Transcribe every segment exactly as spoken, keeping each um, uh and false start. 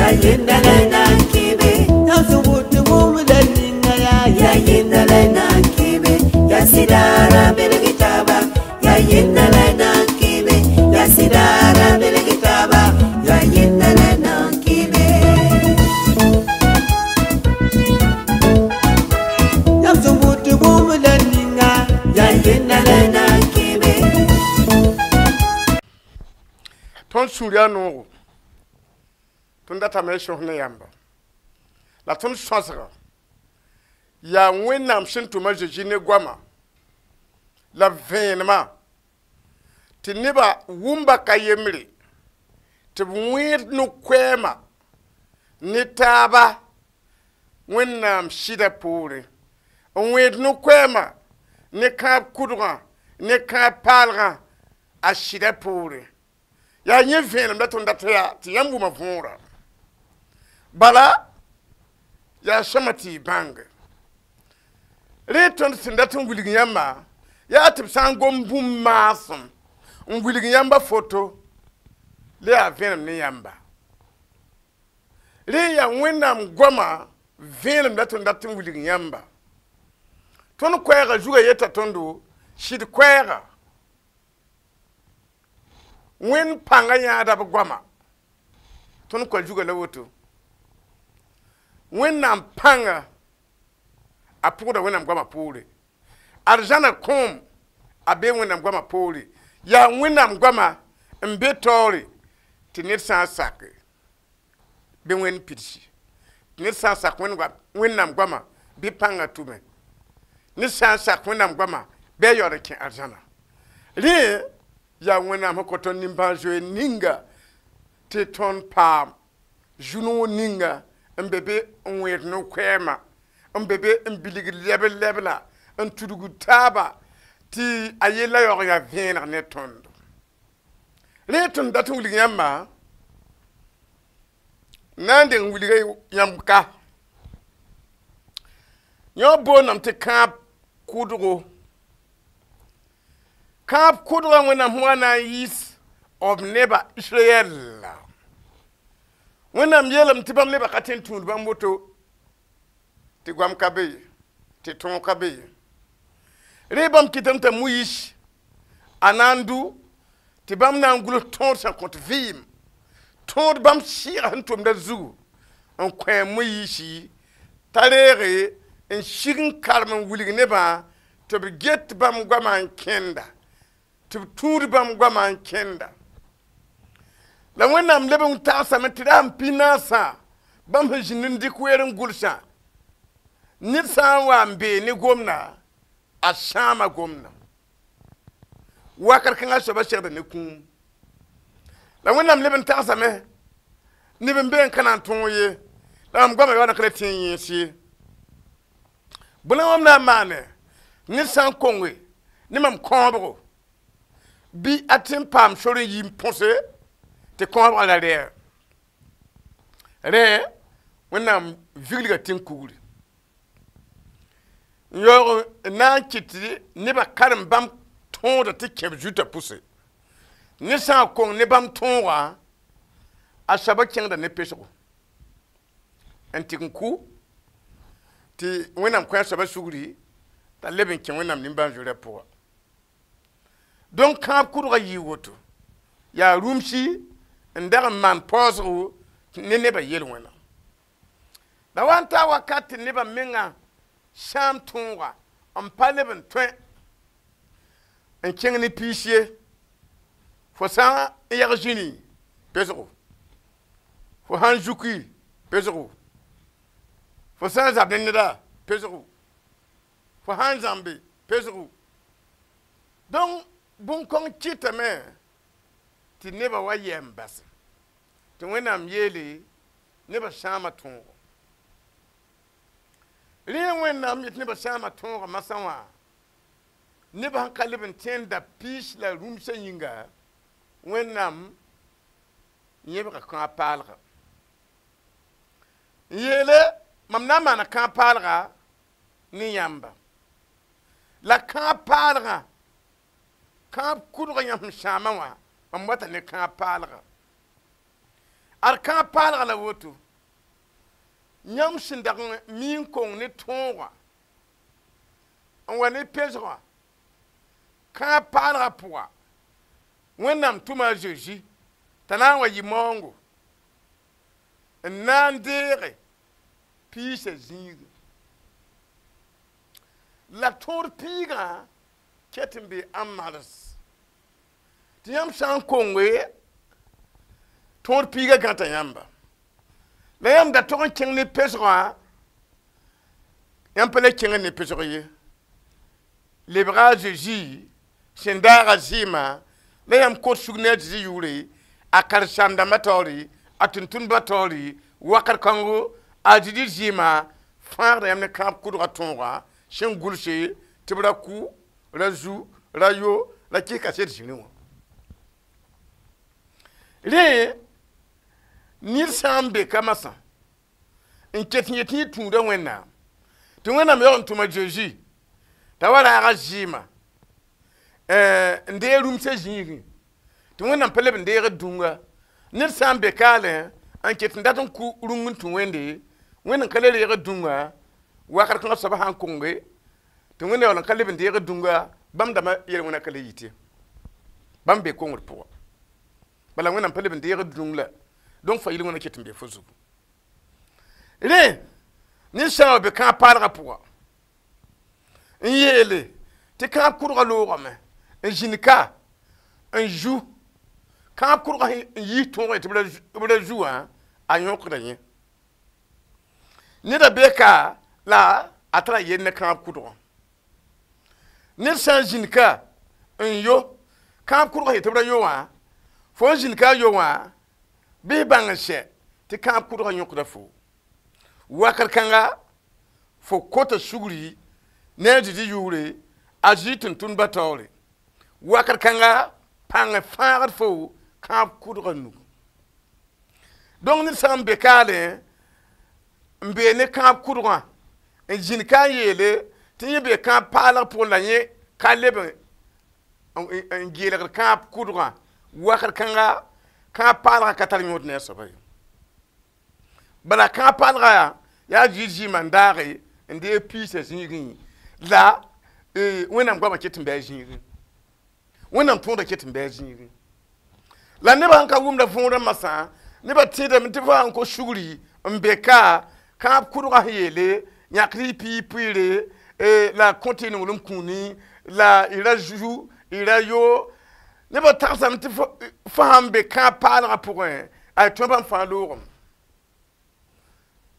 Ya yenda la nan kibe. Yãmb sẽn vʋʋd tɩ bũmb la ninga yaa Ya yenda la nan kibe. Ya sidara belgitaba. Ya yenda la nan kibe. Ya sidara belgitaba. Ya yenda la nan kibe. Yãmb sẽn vʋʋd tɩ bũmb la ninga Ya yenda la nan kibe. Tõnd sũur yaa noogo tõnd datame y sõs ne yãmba la tõnd sõsga yaa wẽnnaam sẽn tʋm a Zeezi ne goama la b vẽenemã tɩ nebã wʋmba ka yembre tɩ b wẽed no-koɛɛma ne taaba wẽnnaam sɩda poorẽ n wẽed no-koɛɛma ne kãab kʋdgã ne kãab paalgã a sɩda poorẽ yaa yẽ vẽenem la tõnd dat yaa tɩ yãmb wʋma võora bala yaa sõma tɩ y bãnge rẽ tõnd sẽn dat n wilg yãmba yaa tɩ b sã n gom bũmb maasem n wilg yãmba foto la yaa vẽenem ne yãmba rẽ yaa wẽnnaam goama vẽenem la tõnd dat n wilg yãmba tõnd koɛɛgã zugã yeta tõndo sɩd koɛɛga wẽnd pãngã yãada b goama tõnd koa zugã la woto wẽnnaam pãnga a pʋgda wẽnnaam goamã poore arzãna kõom a bee wẽnnaam goamã poore yaa wẽnnaam goamã n be taoore tɩ ned sã n sake bɩ wẽnd pidsi tɩ ned sã n sak wẽnnaam goamã bɩ pãngã tʋme ned sã n sak wẽnnaam goamã bɩ a yaood n kẽ arzãna rẽ yaa wẽnnaam sẽn kõ tõnd nimbãan-zoeer ninga tɩ tõnd paam zu-noog ninga n be be n wẽed no-koɛɛma n be be n bilgd lɛbl-lɛbla n tudgd taaba tɩ a yella yaoog yaa vẽeneg ne tõndo rẽ tõnd dat n wilg yãmba na n deng wilga yãmb ka yõ boondame tɩ kãab kʋdgo kãab kʋdgã wẽnnaam sẽn wa na n yiis b neba Israɛl la wẽnnaam yeelame tɩ bãmb nebã ka tõe n tũud bãmb woto tɩ goam ka be ye tɩ tõog ka be ye rẽ bãmb kɩtame t'a Moyiis a na n dʋ tɩ bãmb na n guls tõod sẽn kõt vɩɩm tõod bãmb sɩɩga sẽn tʋmda zugu n kõ a Moyiisi t'a reege n sig n karem n wilg nebã tɩ b get bãmb goamã n kẽnda tɩ b tũud bãmb goamã n kẽnda la wẽnnaam leb n tagsame tɩ ra sẽn pĩ naasã bãmb sẽn zĩnd n dɩk weer n gʋlsã ned sã n wa n bee ne gomda a sãama gomda wakat kãngã soabã segda ne kũum la wẽnnaam leb n tagsame neb n be n ka na n tõog ye la mam goamã yaood n ka le tẽ n yẽes ye bõe mam na n maane ned sã n konge ne mam kãobgo bɩ a tẽ n paam sor n yi n põse tɩ kãobgã ra rɛɛ rẽ wẽnnaam viglga tẽn-kugri n yaoog n na n kɩt tɩ nebã karem bãmb tõoda tɩ kẽb zuta pʋse ned sã n kong ne bãmb tõogã a soabã kẽngda ne pesgo n tɩg n kʋ tɩ wẽnnaam kõ a soabã sugri t'a leb n kẽ wẽnnaam nimbãan-zoeerã pʋga donc kãab kʋdgã yɩɩ woto yaa rũmsi n dag n maan paoosgo ne nebã yel-wẽna la wa n taa wakat tɩ nebã mengã sãam tõoga n pa leb n tõe n kẽng ne piis ye fo sã n yag zĩni pesgo fo sã n zuki pesgo fo sã n zab ne neda pesgo fo sã n zãmbe pesgo donc bũn-kõng kɩtame tɩ nebã wa yɛ n base tɩ wẽnnaam yeele nebã sãama tõogo rẽ wẽnnaam yet nebã sãama tõoga masã wã nebã sẽn ka leb n tẽn da piis la rũmsã yĩnga wẽnnaam yẽbga kãab paalga n yeele mam na n maana kãab paalga ne yãmba la kãab paalgã kãab kʋdgã yãmb sẽn sãamã wã mam wata ne kãab paalga Ad kãab paalga la woto yãmb sẽn dag n mi n kong ne tõogã n wa ne pesgã kãab paalgã pʋga Wẽnnaam tʋma a Zezi t'a na n wa yɩ maoongo n na n deege piisã zĩigẽ la tõod piigã ket n be ãn mals tɩ yãmb sã n konge tõod piigã gãta yãmba la yãmb da tog n kẽng ne pesgã yãmb pa le kẽng ne pesg ye lebga a Zezi sẽn daaga zɩɩmã la yãmb kot sug ne a Zezi yʋʋre a karen-saam-dãmbã taoore a tʋm-tʋmdbã taoore wakat kãngo a Zezi zɩɩmã fãagda yãmb ne kãab kʋdgã tõoga sẽn gʋlse tɩ b ra kʋ ra zu ra yo ra kɩs kaset zĩrĩ wã rẽ ned sã n be ka masã n ket n yet tɩ yẽ tũuda Wẽnnaam tɩ Wẽnnaam yaool n tʋma Zezi t'a wa raaga zɩɩmã n deeg rũmsã zĩigẽ tɩ Wẽnnaam pa leb n deegd dũnga ned sã n be kaalẽ n ket n dat n kʋ rũng n tũ Wẽnde Wẽnd n ka le reegd dũnga wakat kãngã soaba sãn konge tɩ Wẽnd yaool n ka leb n deegd dũnga bãmb dãmbã yel-wẽna ka le yite bãmb be kongd pʋga bala Wẽnnaam pa leb n deegd dũng la donc fa yel-wẽna ket n be fo zugu rẽ ned sã n wa be kãab paalgã pʋga n yeele tɩ kãab kʋdgã loogame n zĩnd ka n zu kãab kʋdgã n yiis tõogẽ tɩ b ra zu wã a yõkda yẽ neda be ka la a tara yell ne kãab kʋdgã ned sã n zĩnd ka n yo kãab kʋdgã yetɩ b ra yo wã fo n zĩnd ka a yo wã bɩ bãng n sɛ tɩ kãab kʋdgã yõkda fo wakat kãnga fo kota sugri ne a Zezi yʋʋre a Zezi tʋm-tʋmdbã taoore wakat kãnga pãng fãagd fo kãab kʋdgã nugu donc ned sã n be kaalẽ n bee ne kãab kʋdgã n zĩnd ka n yeele tɩ yẽ be kãab paalg pʋgẽ la yẽ ka leb n geelgd kãab kʋdgã wakat kãnga kãab paalgã ka tar yõod ne a soaba ye bala kãab paalgã yaa Zezi zɩɩmã n daage n deeg piisã zĩigẽ la Wẽnnaam goamã ket n bɩ a zĩigẽ Wẽnnaam tõodã ket n bɩ a zĩigẽ la nebã sẽn ka wʋmda võorã masã nebã tẽedame tɩ fo sãn ko sugri n be ka kãab kʋdgã sẽn yeele yãkd y pii pʋɩɩre la kõt y nonglem kũuni la y ra zu y ra yo nebã tagsame tɩ fo sãn be kãab paalgã pʋgẽ a tõe bãmb fãa loogame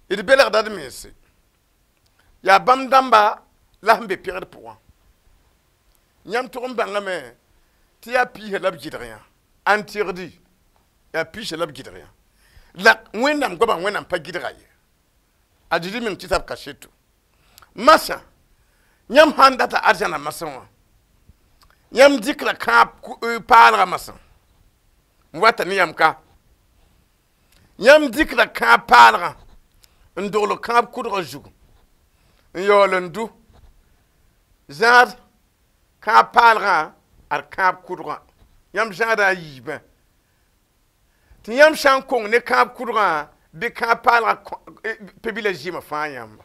d belgda d mense yaa bãmb dãmba la sẽn be pẽgd pʋgã yãmb tʋg n bãngame tɩ yaa piisã la b gɩdg yã an tɩgdi yaa piisã la b gɩdg yã la Wẽnnaam goamã Wẽnnaam pa gɩdga ye a Zezi meng tɩ b kaseto masã yãmb sãn data arzãna masã wã yãmb dɩkra kãab paalgã masã n wata ne yãmb ka yãmb dɩkra kãab paalgã n dogl kãab kʋdgã zugu n yaool n du zãad kãab paalgã ad kãab kʋdgã yãmb zãada a yiibẽ tɩ yãmb sã n kong ne kãab kʋdgã bɩ kãab paalgã pe-bilã zɩɩmã fãa yãmba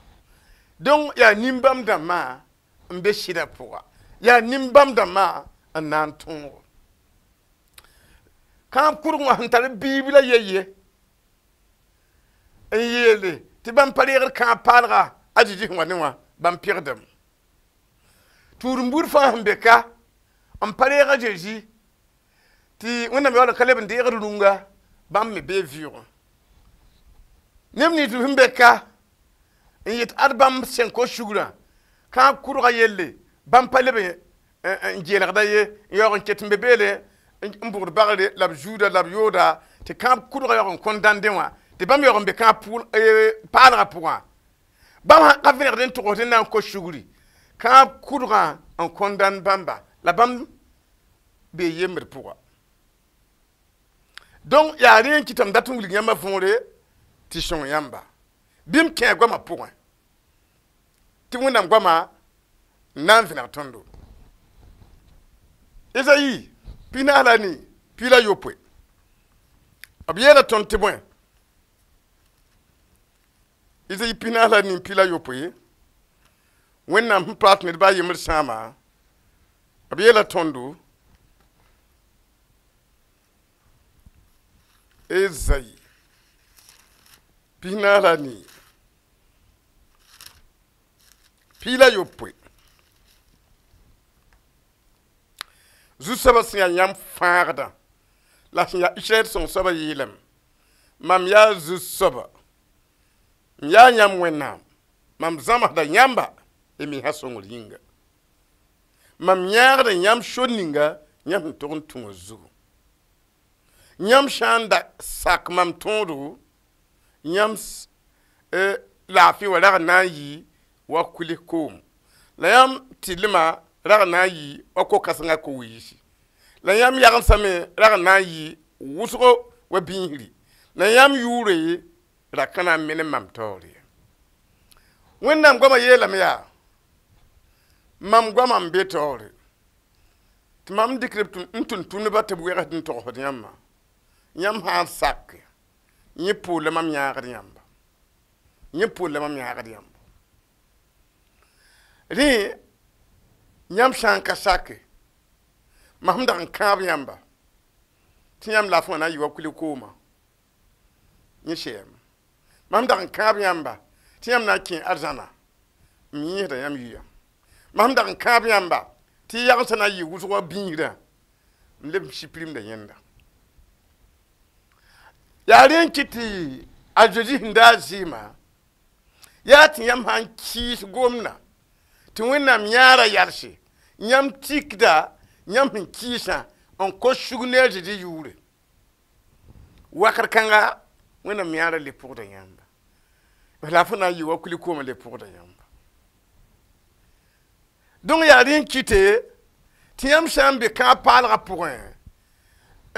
donc yaa nin-bãmb dãmbã n be sɩdã pʋga yaa nin-bãmb dãmbã n na n tõogo kãab kʋdg wã sẽn tar biib la ye ye n yeele tɩ bãmb pa reegd kãab paalga a Zezi sẽn wa ne wã bãmb pegdame tũud-n-buud fãa sẽn be ka n pa reeg a Zezi tɩ Wẽnnaam yaool n ka leb n deegd rũnga bãmb me bee vɩʋʋgẽ neb nins sẽn be ka n yet ad bãmb sẽn kos sugrã kãab kʋdgã yelle bãmb pa leb n geelgda ye n yaoog n ket n be beele n bʋgd bagre la b zuuda la b yooda tɩ kãab kʋdgã yaoog n kõn dãndẽ wã tɩ bãmb yaoog n be kãab paalgã pʋgã bãmb sã ka vẽnegd n togsd n na n kos sugri kãab kʋdgã n kõn dãnd bãmba la bãmb bee yembd pʋga donc yaa rẽ n kɩtame dat n wilg yãmba võore tɩ sõng yãmba bɩ m kẽ goamã pʋgẽ tɩ Wẽnnaam goamã n na n vẽneg tõndo Ezayi pis-naas la nii piig la yopoe B yeela tõnd tɩ bõe Izayi pis-naas la nin pi la yopoe Wẽnnaam sẽn paas ned baa yembr sãama b yeela tõndo Ezayi pis-naas la nii pi la yopoe zu-soabã sẽn yaa yãmb fãagdã la sẽn yaa Israɛl sõng soabã yeelame mam yaa zu-soaba n yaa yãmb Wẽnnaam mam zãmsda yãmba y mensã sõngr yĩnga mam yãagda yãmb sor ninga yãmb sẽn tog n tũ wã zugu yãmb sã n da sak mam tõodo yãmb laafɩ wã rag n na n yɩ wa kuls koom la yãmb tɩlmã rag n na n yɩ wa ko-kãsengã ko-wiisi la yãmb yagendsã me rag n na n yɩ wʋsgo wa biisri la yãmb yʋʋre ra ka na n menem mam taoore ye Wẽnnaam goamã yeelame yaa mam goamã n be taoore tɩ mam dɩkd n tʋm-tʋmdbã tɩ b wegsd n togsd yãmbã yãmb sã n sak yẽ poor la mam yãagd yãmba yẽ poor la mam yãagd yãmba rẽ yãmb sã n ka sake mam sẽn dag n kãab yãmba tɩ yãmb laafɩ wã na n yɩ wa kuli-koomã yẽ sɛɛme mam sẽn dag n kãab yãmba tɩ yãmb na n kẽ arzãna m yẽesda yãmb yʋya mam sẽn dag n kãab yãmba tɩ y yagsã na n yɩ wʋsg wa biisrã n leb n sipirimda yẽnda yaa rẽ n kɩt tɩ a Zeezi sẽn daa zɩɩmã yaa tɩ yãmb sã n kɩɩs gomdã tɩ Wẽnnaam yãara yalse yãmb tikda yãmb sẽn kɩɩsã n kos sug ne a Zeezi yʋʋre wakr kãnga Wẽnnaam yãara le pʋgda yãmba la fo na n yɩ wa kuli-koomã le pʋgda yãmba donc yaa rẽ n kɩte tɩ yãmb sã n be kãab paalgã pʋgẽ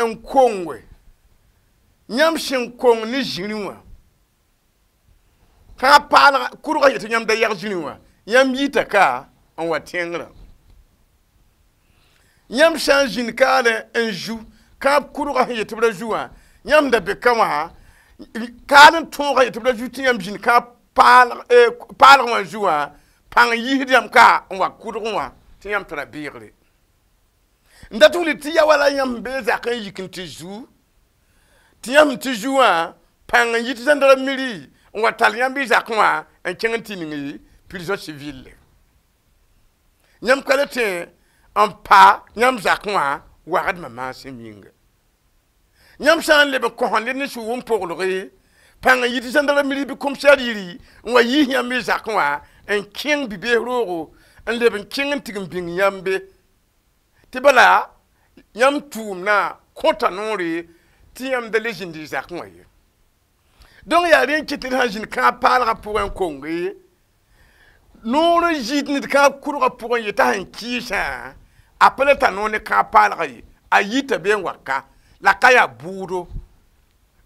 n konge yãmb sẽn kong ne zĩrĩ wã kãab paalga kurgã yetɩ yãmb da yag zĩrĩ wã yãmb yita ka n wa tẽngrã yãmb sã n zĩnd kaale n zu kãab kurgã sẽn yetɩ b ra zu wã yãmb da be ka wã kaal n tõogã yetɩ b ra zu tɩ yãmb zĩnd kãab paalg wã zu wã pãng yiisd yãmb ka n wa kʋdg wã tɩ yãmb tara beegre n dat wilg tɩ ya wala yãmb bee zak n yik n tɩ zu tɩ yãmb tɩ zu wã pãng n yit gendarmerie n wa tall yãmb y zakẽ wã n kẽng n tɩ ning prison civile yãmb ka le tẽ n pa yãmb zakẽ wã wagdmã maasem yĩnga yãmb sã n leb n kõs ned ne sʋʋg n poglge pãng n yit gendarmerie bɩ commissaire yiri n wa yiis yãmb y zakẽ wã n kẽng bi-bees roogo n leb n kẽng n tig n bĩng yãmbe tɩ bala yãmb tʋʋmdã kõta noore tɩ yãmb da le zĩnd y zakẽ wã ye donc yaa rẽ n kɩt tɩ d sã n zĩnd kãab paalgã pʋgẽ n konge noor n zɩɩd ned kãab kurgã pʋgẽ yetã sẽn kɩɩsã a pa le tar noor ne kãab paalgã ye a yita be n wa ka la ka yaa bʋʋdo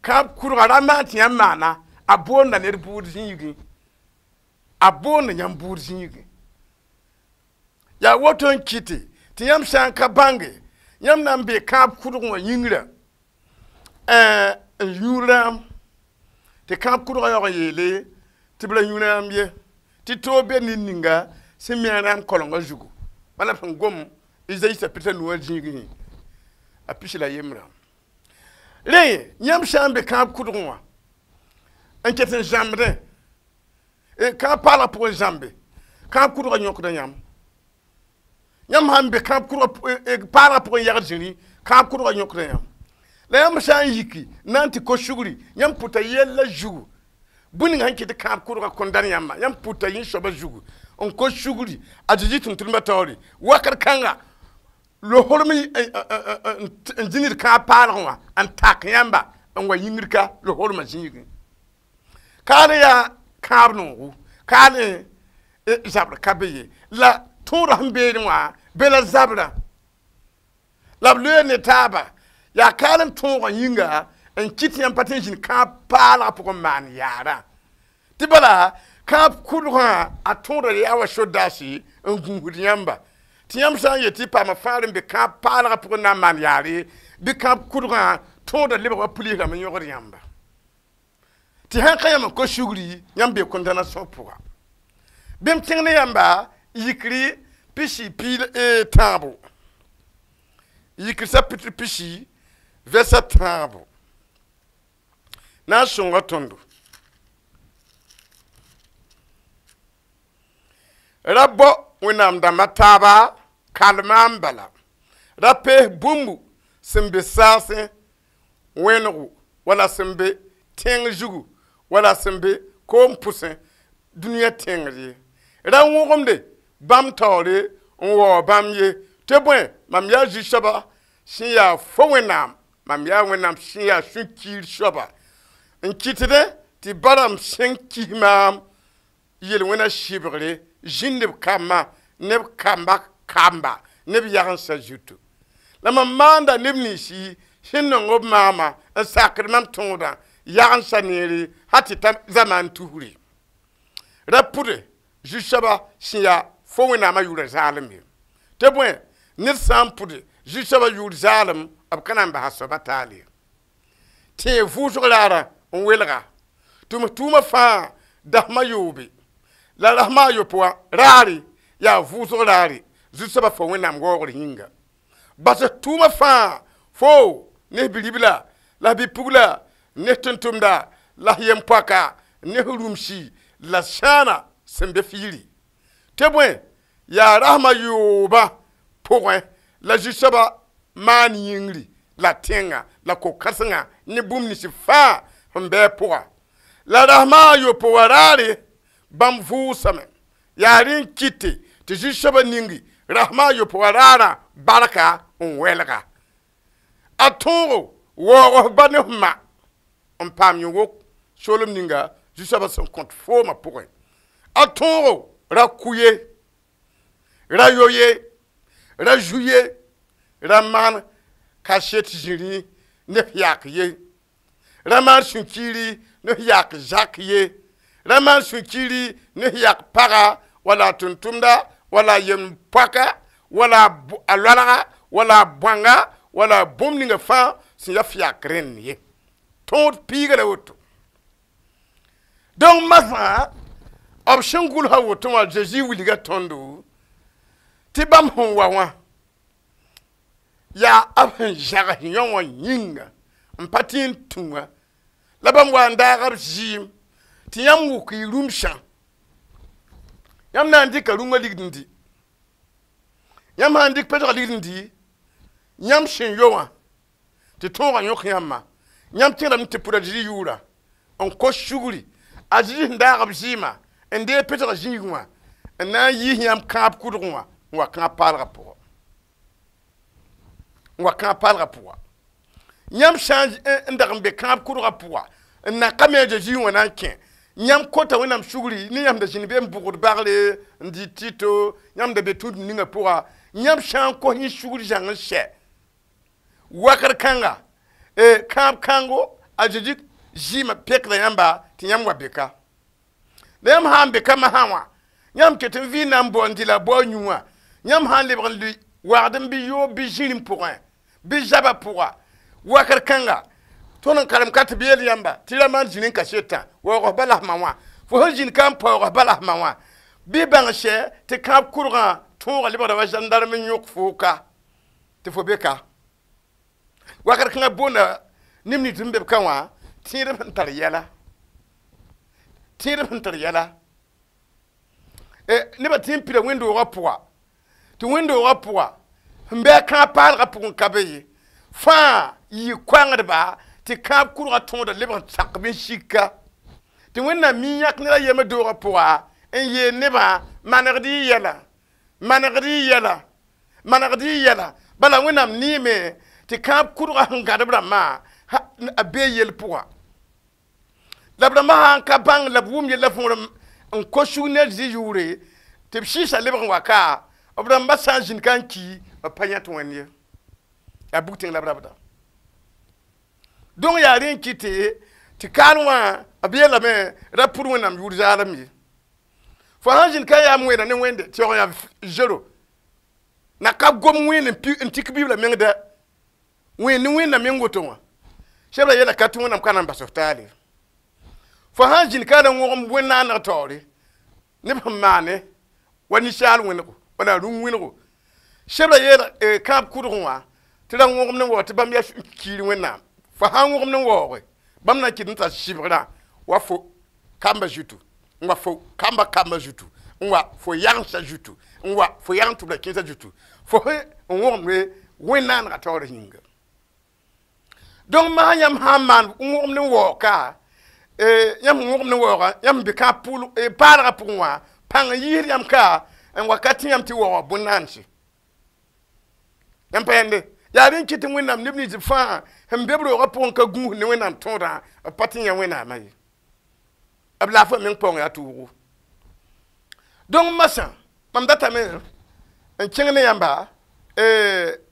kãab kurgã ra maan tɩ yãmb maana a boonda ned bʋʋd zĩigẽ a boonda yãmb bʋʋd zĩigẽ yaa woto n kɩte tɩ yãmb sã n ka bãnge yãmb na n bee kãab kurg wã yĩngrã n yũ rãam tɩ kãab kurgã yaoog n yeele tɩ b ra yũ rãam ye tɩ toog be ned ninga sẽn mi a rãam kolengã zugu wala sẽn gom Izayi sapita nuwã zĩigẽ a pis la yembrã rẽ yãmb sã n be kãab kʋdgẽ wã n ket n zãmbdẽ kãab paalgã pʋgẽ zãmbe kãab kʋdgã yõkda yãmb yãmb sã n be kãab kʋdgã paalgã pʋgẽ yagd zĩri kãab kʋdgã yõkda yãmb la yãmb sã n yiki na n tɩ kos sugri yãmb pʋta yɛlla zugu bũmb ninga sẽn kɩt tɩ kãab kʋdgã kõn dãn yãmba yãmb pʋta yẽ soabã zugu n kos sugri a Zeezi tʋm-tʋmdbã taoore wakat kãnga lohorem n zĩnd d kãab paalgẽ wã n tak yãmba n wa yĩngr ka lohormã zĩigẽ kaal yaa kãab noogo kaal zabr ka be ye la tõodã sẽn beene wã be la zabrã la b loe ne taaba yaa kaal n tõogã yĩnga n kɩt yãmb pa tɩ n zĩnd kãab paalgã pʋgẽ n maan yaarã tɩ bala kãab kʋdgã a tõoda yaa wa sodaasi n gũusd yãmba tɩ yãmb sã n yet tɩ paama fãagr n be kãab paalgã pʋgẽ na n maan yaare bɩ kãab kʋdgã Tõoda lebg wa pulis rãmb n yõgd yãmba tɩ sãn ka yãmb n kos sugri yãmb be condamnation pʋga bɩ m kẽng ne yãmba yikri pisi piig tãabo yikr chapitre pisi verset tãabo na n sõnga tõndo ra bao wẽnnaam dãmba taaba kalma n bala ra pees bũmbu sẽn be saasẽ wẽnego wala sẽn be tẽng zugu wala sẽn be koom pʋsẽ dũniyã tẽngr ye ra wõgemde bãmb taoore n waoog bãmb ye tɩ bõe mam yaa zu-soaba sẽn yaa fo wẽnnaam mam yaa wẽnnaam sẽn yaa sũ-kiir soaba n kɩtdẽ tɩ barame sẽn kis maam yel-wẽna sɩbgre zĩnd b kambã ne b kamba kamba ne b yagensã zutu la mam maanda neb ninsi sẽn nong b maama n sakd mam tõodã yagensã neere hal tɩ ta zamaan tusre ra pʋde zu-soaba sẽn yaa fo wẽnnaamã yʋʋra zaalem ye tɩ bõe ned sã n pʋde zu-soabã yʋʋr zaalem b ka na n basa soaba taal ye tẽeg vʋʋsg raarã n welga tɩ m tʋʋmã fãa dasma yoobe la rasma a yopoe wã raare yaa vʋʋsg raare zu-soabã fo wẽnnaam waoogr yĩnga bas tʋʋmã fãa fo ne bi-ribla la bi-pugla ne tʋm-tʋmda la yem-poaka ne rũmsi la sãana sẽn be fiiri tɩ bõe yaa rasma yoobã pʋgẽ la zu-soabã maan yĩngri la tẽnga la ko-kãsengã ne bũmb nins fãa sẽn bɩ a pʋga la rasma a yopoe wã raare bãmb vʋʋsame yaa rẽ n kɩte tɩ zu-soabã ningi rasma a yopoe wã raarã barka n wɛlga a tõogo waoog f ba ne f ma n paam yõ-wok soolem ninga zu-soabã sẽn kõt foomã pʋgẽ a tõogo ra ku ye ra yo ye ra zu ye ra maan kaset zĩri ne f yak ye ra maan sũ-kiiri ne f yak zak ye ra maan sũ-kiiri ne f yak paga wala a tʋm-tʋmda wala a yem-poaka wala a loalga wala a bõanga wala a bũmb ninga fãa sẽn ya f yak rẽnd ye tõod piiga la woto donc masã b sẽn gʋlsa woto wã Zeezi wilga tõndo tɩ bãmb sẽn wa wã yaa b sẽn zãgs yõ wã yĩnga n pa tɩ n tũ wã la bãmb wa n daag b zɩɩm tɩ yãmb wʋk y rũmsã yãmb na n dɩka rũngã ligd n dɩ yãmb sã n dɩk pesgã ligd n dɩ yãmb sẽn yo wã tɩ tõogã yõk yãmbã yãmb tẽedame tɩ pʋd a Zezi yʋʋra n kos sugri a Zezi sẽn daag b zɩɩmã n deeg pesgã zĩig wã n na n yiis yãmb kãab kʋdg wã n wa kãab paalgã pʋgã n wa kãab paalgã pʋga yãmb sã n dag n be kãab kʋdgã pʋga n na ka me a Zezi wã na n kẽ yãmb kota wẽnnaam sugri ne yãmb da zĩnd be n bʋgd bagre n dɩ tɩto yãmb da be tũud ninga pʋga yãmb sã n kos yẽ sugr zãng n sɛ wakr kãnga kãab kãngo a Zezi zɩɩmã pekda yãmba tɩ yãmb wa beka la yãmb sã n be ka masã wã yãmb ket n vɩ na n bao n dɩ la bao yũ wã yãmb sã n lebg n lʋɩ wagd n bɩ yoob bɩ zĩrim pʋgẽ bɩ zabã pʋga wakr kãnga tõnd n karem ka tɩ b yeel yãmba tɩ ra maan zĩr n kasetã waoog f ba la f ma wã fo sẽn zĩnd ka n paoog f ba la f ma wã bɩ bãng sɛ tɩ kãab kʋrgã tõogã lebgda wa gendarme n yõk foo ka tɩ fo be ka wakr kãngã boonda neb nins sẽn be b ka wã tẽedb sẽn tar yɛla tẽedb sẽn tar yɛla nebã tɩ n pida wẽnd-doogã pʋga tɩ wẽnd-doogã pʋga sẽn bɩ a kãab paalgã pʋgẽ ka be ye fãa yɩ koangdba tɩ kãab kʋrgã tõoda lebg n sak bɩ n sika tɩ wẽnnaam mi yãk ned a yembr doogã pʋga n yeel nebã manegd y yɛla manegd y yɛla manegd y yɛla bala wẽnnaam neeme tɩ kãab kʋrgã sẽn gãd b rãmbã a bee yell pʋga la b rãmbã sã n ka bãng la b wʋm yella võor n kos sug ne a Zezi yʋʋre tɩ b sɩɩsã lebg n wa ka b rãmbã sã n zĩnd ka n ki b pa yãt wẽnd ye yaa bug tẽng la b rabda donc yaa rẽ n kɩte tɩ kaal wã b yeelame ra pʋd wẽnnaam yʋʋr zaalem ye fo sãn zĩnd ka yaam wẽeda ne wẽnde tɩ yaoog yaa zero na ka gom wẽnd n tik bibla meng dɛ wẽnd ne wẽnda meng woto wã Sebra yeela ka tɩ wẽnnaam ka na n bas f taale. Fo sã n zĩnd ka ra wõgem wẽn-naaneg taoore neb sẽn maane wa ninsaal wẽnego wala rũm wẽnego. Sebra yeela kãab kʋdgẽ wã tɩ ra wõgem ne waoog tɩ bãmb yaa kiir wẽnnaam. Fo sã n wõgem ne waooge bãmb na n kɩt n tar sɩbgrã wa fo kamba zutu n wa fo kamba kamba zutu n wa fo yagensa zutu n wa fo yagn tʋbra kẽesã zutu fo sẽn n wõgemde wẽn-naanegã taoor yĩnga. Donc masã yãmb sã n maan n wõgem ne waoog ka yãmb sẽn wõgem ne waoogã yãmb be kãab paalgã pʋgẽ wã pãng n yiisd yãmb ka n wakat tɩ yãmb tɩ waooga bõn-naanse. Yãmb pa yãnde yaa rẽn kɩt tɩ wẽnnaam neb nins fãa sẽn be b roogã pʋgẽ ka gũus ne wẽnnaam tõodã b pa tɩ yã wẽnnaamã ye. B laafã meng paoong yaa tʋʋgo. Donc masã mam datame n kẽng ne yãmba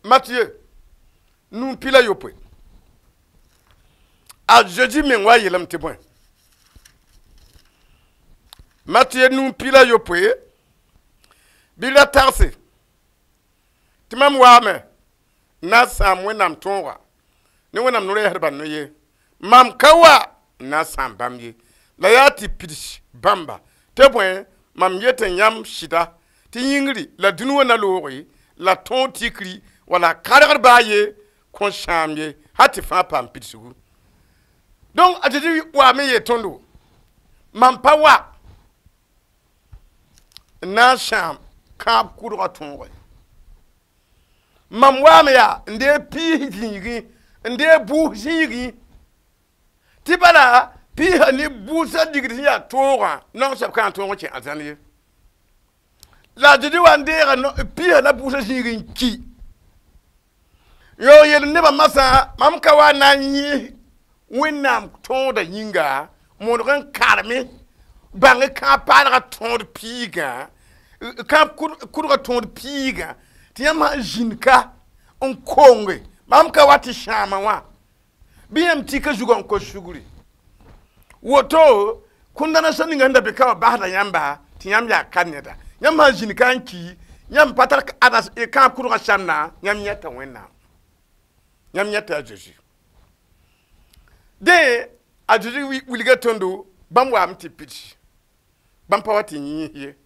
Mathieu nuu pila yopoe. A Jésus meng wa yeelame tɩ bõe. Mathieu nuu pila yopoe bɩ ra tagse tɩ mam waame n na n sãam wẽnnaam tõoga ne wẽnnaam no-rɛɛsdbã no-ye. Mam ka wa n na n sãam bãmb ye. La yaa tɩ pids bãmba tɩ bõe mam yet n yãmb sɩda tɩ yĩngri la dũni wã na looge la tõog tikri wala kargd baa ye kõ sãam ye hal tɩ fãa paam pidsgu. Donc a Zezi waame yeel tõndo mam pa wa n na n sãam kãab kʋdgã tõoge. Mam waame yaa n deeg piis zĩigẽ n deeg bʋʋs zĩigẽ tɩ bala piisã ne bʋʋsã ligd sẽn yaa toogã naong soab ka n tõog n kẽ arzãn ye. La a Zezi wa n deega piisã la bʋʋsã zĩig n ki. Yaoog yeel nebã masã mam ka wa na n yẽ wẽnnaam tõoda yĩnga modg n karme bãng kãab paalgã tõod piigã kãab kʋdgã tõod piigã tɩ yãmb sã n zĩnd ka n konge mam ka wa tɩ sãama wã bɩ yãmb tika zugã n kos sugri. Woto kũndana sã ninga sẽn da be ka wã basda yãmba tɩ yãmb yaa ka neda. Yãmb sã n zĩnd ka n ki yãmb pa tar kãab kʋdgã sãmna yãmb yẽta wẽnnaam. Yãmb yẽta a Zeezi. Dẽ a Zeezi wilga tõndo bãmb waame tɩ pidsi bãmb pa wa tɩ yĩs ye.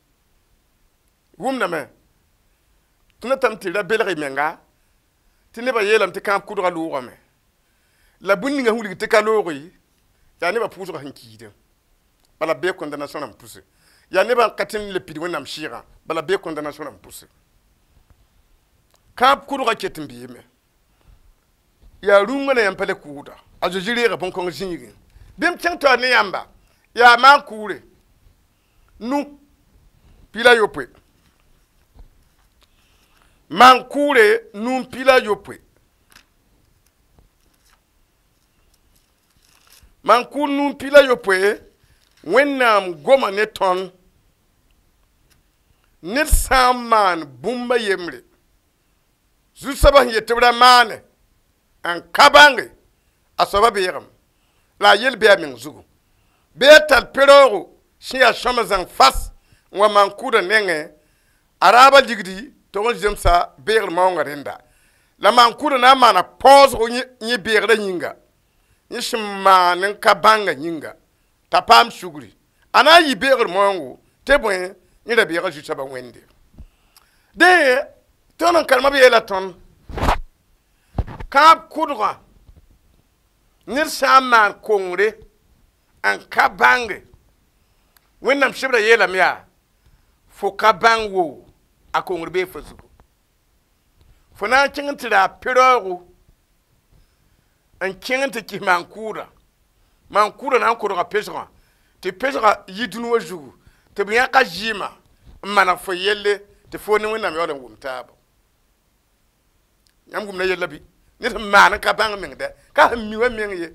Wʋmdame tɩ natame tɩ ra belg y menga tɩ nebã yeelame tɩ kãab kʋdgã loogame la bũmb ninga sẽn wilg tɩ ka looge yaa nebã pʋʋsgã sẽn kiidẽ bala bee condamnation rãmb pʋse. Yaa nebã n ka tɩ n le pid wẽnnaam sɩɩgã bala bee condamnation rãmb pʋse. Kãab kʋdgã ket n beeme yaa rũngã la yãmb pa le kʋʋda. A Zezi reega bõn-kõng zĩigẽ. Bɩ m kẽng taoor ne yãmba yaa maan kʋʋre nu pila yopoe. Maan kʋʋre nu pila yopoe. Maan kʋʋr nu pila yopoe wẽnnaam goma ne tõnd ned sã n maan bũmba yembre zu-soabã sẽn yet tɩ b ra maane n ka bãnge a soaba beegem la a yel bɩ a meng zugu bɩ a tar pe-raoogo sẽn yaa sõma zãng fas n wa maan kʋʋdã nengẽ a raabã ligdi tog n zemsa beegr maoongã rẽnda la maan kʋʋdã na n maana paoosgo yẽ beegrã yĩnga yẽ sẽn maan n ka bãngã yĩnga t'a paam sugri a na n yɩ beegr maoongo tɩ bõe yẽ ra beega zu-soabã wẽnde. Dẽ tõnd n karemã b yeela tõnd kãab kʋdgã ned sã n maan kongre n ka bãnge wẽnnaam sebra yeelame yaa fo ka bãng wo a kongr bee fo zugu. Fo na n kẽng n tɩ raa pe-raoogo n kẽng n tɩ kis maan kʋʋda maan kʋʋda na n kodga pesgã tɩ pesgã yi dũni wã zugu tɩ b yãka zɩɩmã n maneg fo yelle tɩ fo ne wẽnnaam yaool n wʋm taabo. Yãmb wʋmda yella bɩ ned sẽn maan n ka bãng meng dɛ ka sẽn mi wã meng ye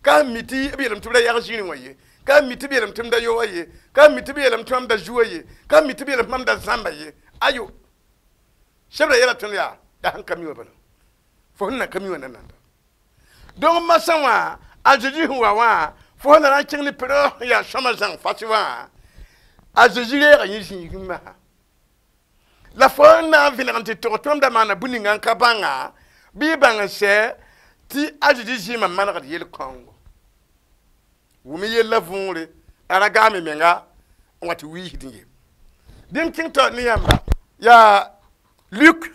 ka sẽn mi tɩ b yeelame tɩ b ra yag zĩrĩ wã ye ka sẽn mi tɩ b yeelame tɩ m da yoa ye ka sẽn mi tɩ b yeelame tɩ mam da zua ye ka sẽn mi tɩ b yeelame tɩ mam da zãmba ye ayo sebra yeela tõnd yaa yaa sẽn ka mi wã bala fo sẽn na ka mi wã nananda. Donc masã wã a Zezi sẽn wa wã fo sẽn na n kẽng ne pe-raoog sẽn yaa sõma zãng fas wã a Zezi reega yẽ zĩigẽ masã la fo n na n vẽneg n tɩ tog tõnd da maana bũmb ninga n ka bãnga bɩ y bãng n sɛ Tɩ a Zezi zɩɩmã manegd yel-kãongo wʋm yella võore la ra gaame menga n wa tɩ wiisd ye bɩ m kẽng tao ne yãmba yaa Luk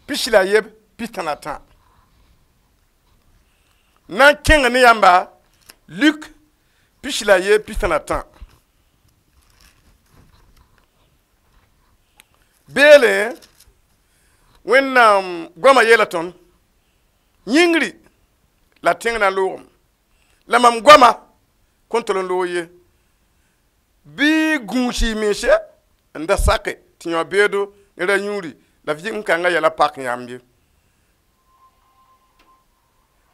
pis la yeb pistã la tã na n kẽng ne yãmba Luk pis la yeb pistã la tã beele Wẽnnaam goamã yeela tõnd yĩngri la tẽng na loogem la mam goama kõn tol n loog ye bɩ gũus y mense n da sake tɩ yão beedo ne ra yũuri la vɩɩm kãngã yɛla pak yãmb ye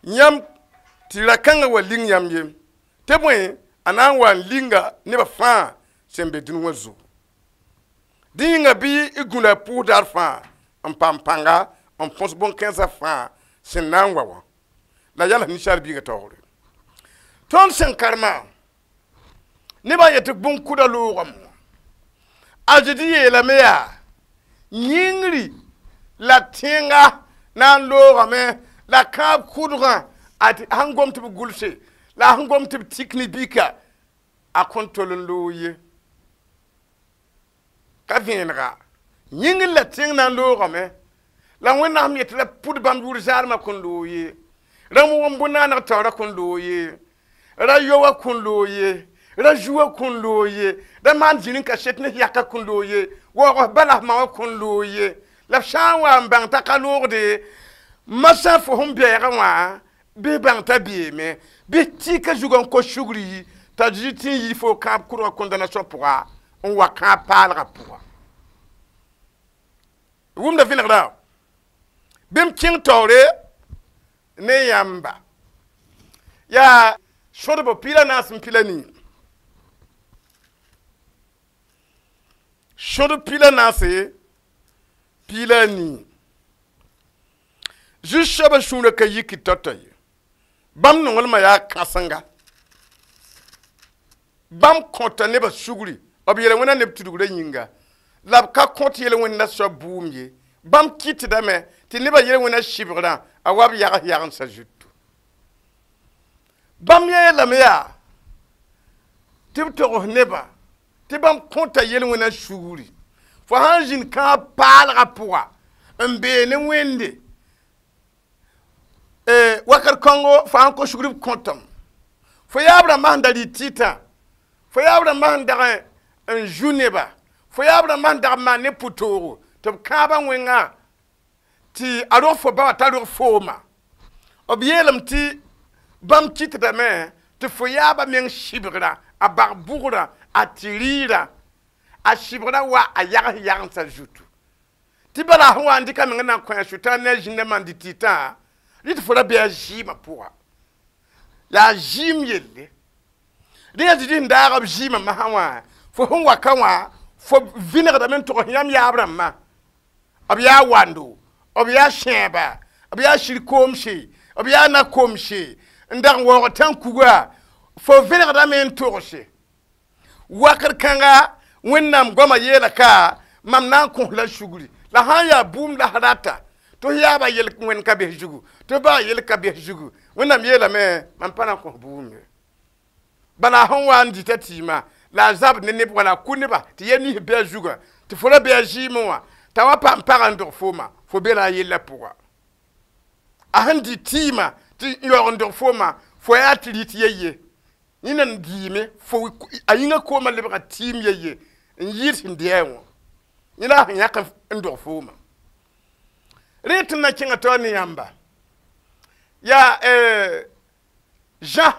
yãmb tɩ ra-kãngã wa ling yãmb ye tɩ bõe a na n wa n linga nebã fãa sẽn be dũni wã zugu dẽ yĩnga bɩ y gũla pʋʋs daar fãa n paam pãnga n põs bõn-kãensã fãa sẽn na n wa wã la yals ninsaal biigã taoore tõnd sẽn karema nebã yetɩ bõn-kʋda loogame wã a Zezi yeelame yaa yĩngri la tẽnga na n loogame la kãab kʋdgã a sẽn gom tɩ b gʋlse la a sẽn gom tɩ b tik ne bika a kõn tol n loog ye ka vẽenega yĩngr la tẽng na n loogame la Wẽnnaam yetɩ la pʋd bãmb yʋʋr zaarmã kõn loog ye rãmb wʋm bõn-naaneg taoorã kõn loog ye ra yoa kõn loog ye ra zuwa kõn loog ye ra maan zĩr n ka set ne yaka kõn loog ye waoog bala ma wã kõn loog ye la b sã n wa n bãng t'a ka loogde masã fo sẽn bɛɛgã wã bɩ bãng t'a beeme bɩ tɩka zugã n kos sugri t'a Zezi tɩ n yi fo kãab kʋdgã condamnation pʋga n wa kãab paalgã pʋga wʋmda vẽnegrã bɩ m kẽng taoore ne yãmba yaa sõdbo pila naas n pila nii sõdb pila naase pila nii zu-soabã sũurã ka yiki tao-tao ye bãmb nonglmã yaa kãsenga bãmb kõta nebã sugri b yel wẽna neb tudgrã yĩnga la b ka kõt yel-wẽnda soab bʋʋm ye bãmb kɩtdame tɩ nebã yel-wẽna sɩbgrã a wa b yags yagendsã zutu bãmb yeelame yaa tɩ b togs nebã tɩ bãmb kõta yel-wẽna sugri fo sãn zĩnd kãab paalgã pʋga n bee ne Wẽnde wakat kãngo fo sãn kos sugr b kõtame fo yaab rãmbã sẽn da rɩ tɩtã fo yaab rãmbã sẽn dag n zu neba fo yaab rãmbã sẽn dag n maan ne pʋ-toogo tɩ b kãabã wẽngã tɩ a rog fo ba wã t'a rog fooma b yeelame tɩ bãmb kɩtdame tɩ fo yaabã meng sɩbgrã a bag bʋgrã a tɩ rɩɩrã a sɩbgrã wa a yags yagendsã zutu tɩ bala sẽn wa n dɩka meng n na n kõ a sʋtã ne a zĩnda maan dɩ tɩtã rɩ tɩ fo ra bɩ a zɩɩmã pʋga yaa zɩɩm yelle dẽ yaa Zezi sẽn daag b zɩɩmã masã wã fo sẽn wa ka wã fo vẽnegdame n togs yãmb yaab rãmbã b yaa wando b yaa sẽeba b yaa sir-koomse b yaa na-komse n dag n waoog tãn-kuga fo vẽnegdame n togse wakr kãnga Wẽnnaam goamã yeela ka mam na n kõs la sugri la sã n yaa bʋʋm la rata tɩ f yaabã yel wẽnd ka bes zugu tɩ f baa yel ka bes zugu Wẽnnaam yeelame mam pa na n kõs bʋʋm ye bala sẽn wa n dɩta tɩɩmã la a zabd ne neb wala a kʋ nebã tɩ yɛl nins bɩ a zugã tɩ fo ra bɩ a zɩɩmẽ wã t'a wa paam pagã n dog fooma fo be la a yellã pʋga a sẽn dɩ tɩɩmã tɩ yaoog n dog fooma fo yaa tɩ rɩt ye-ye yẽna n dɩɩme fo a yĩngã koomã lebga tɩɩm ye-ye n yɩɩd sẽn dɩ-a wã yẽ la a sẽn yãk n dog fooma rẽ tɩ na kẽngã taoor ne yãmba yaa Jean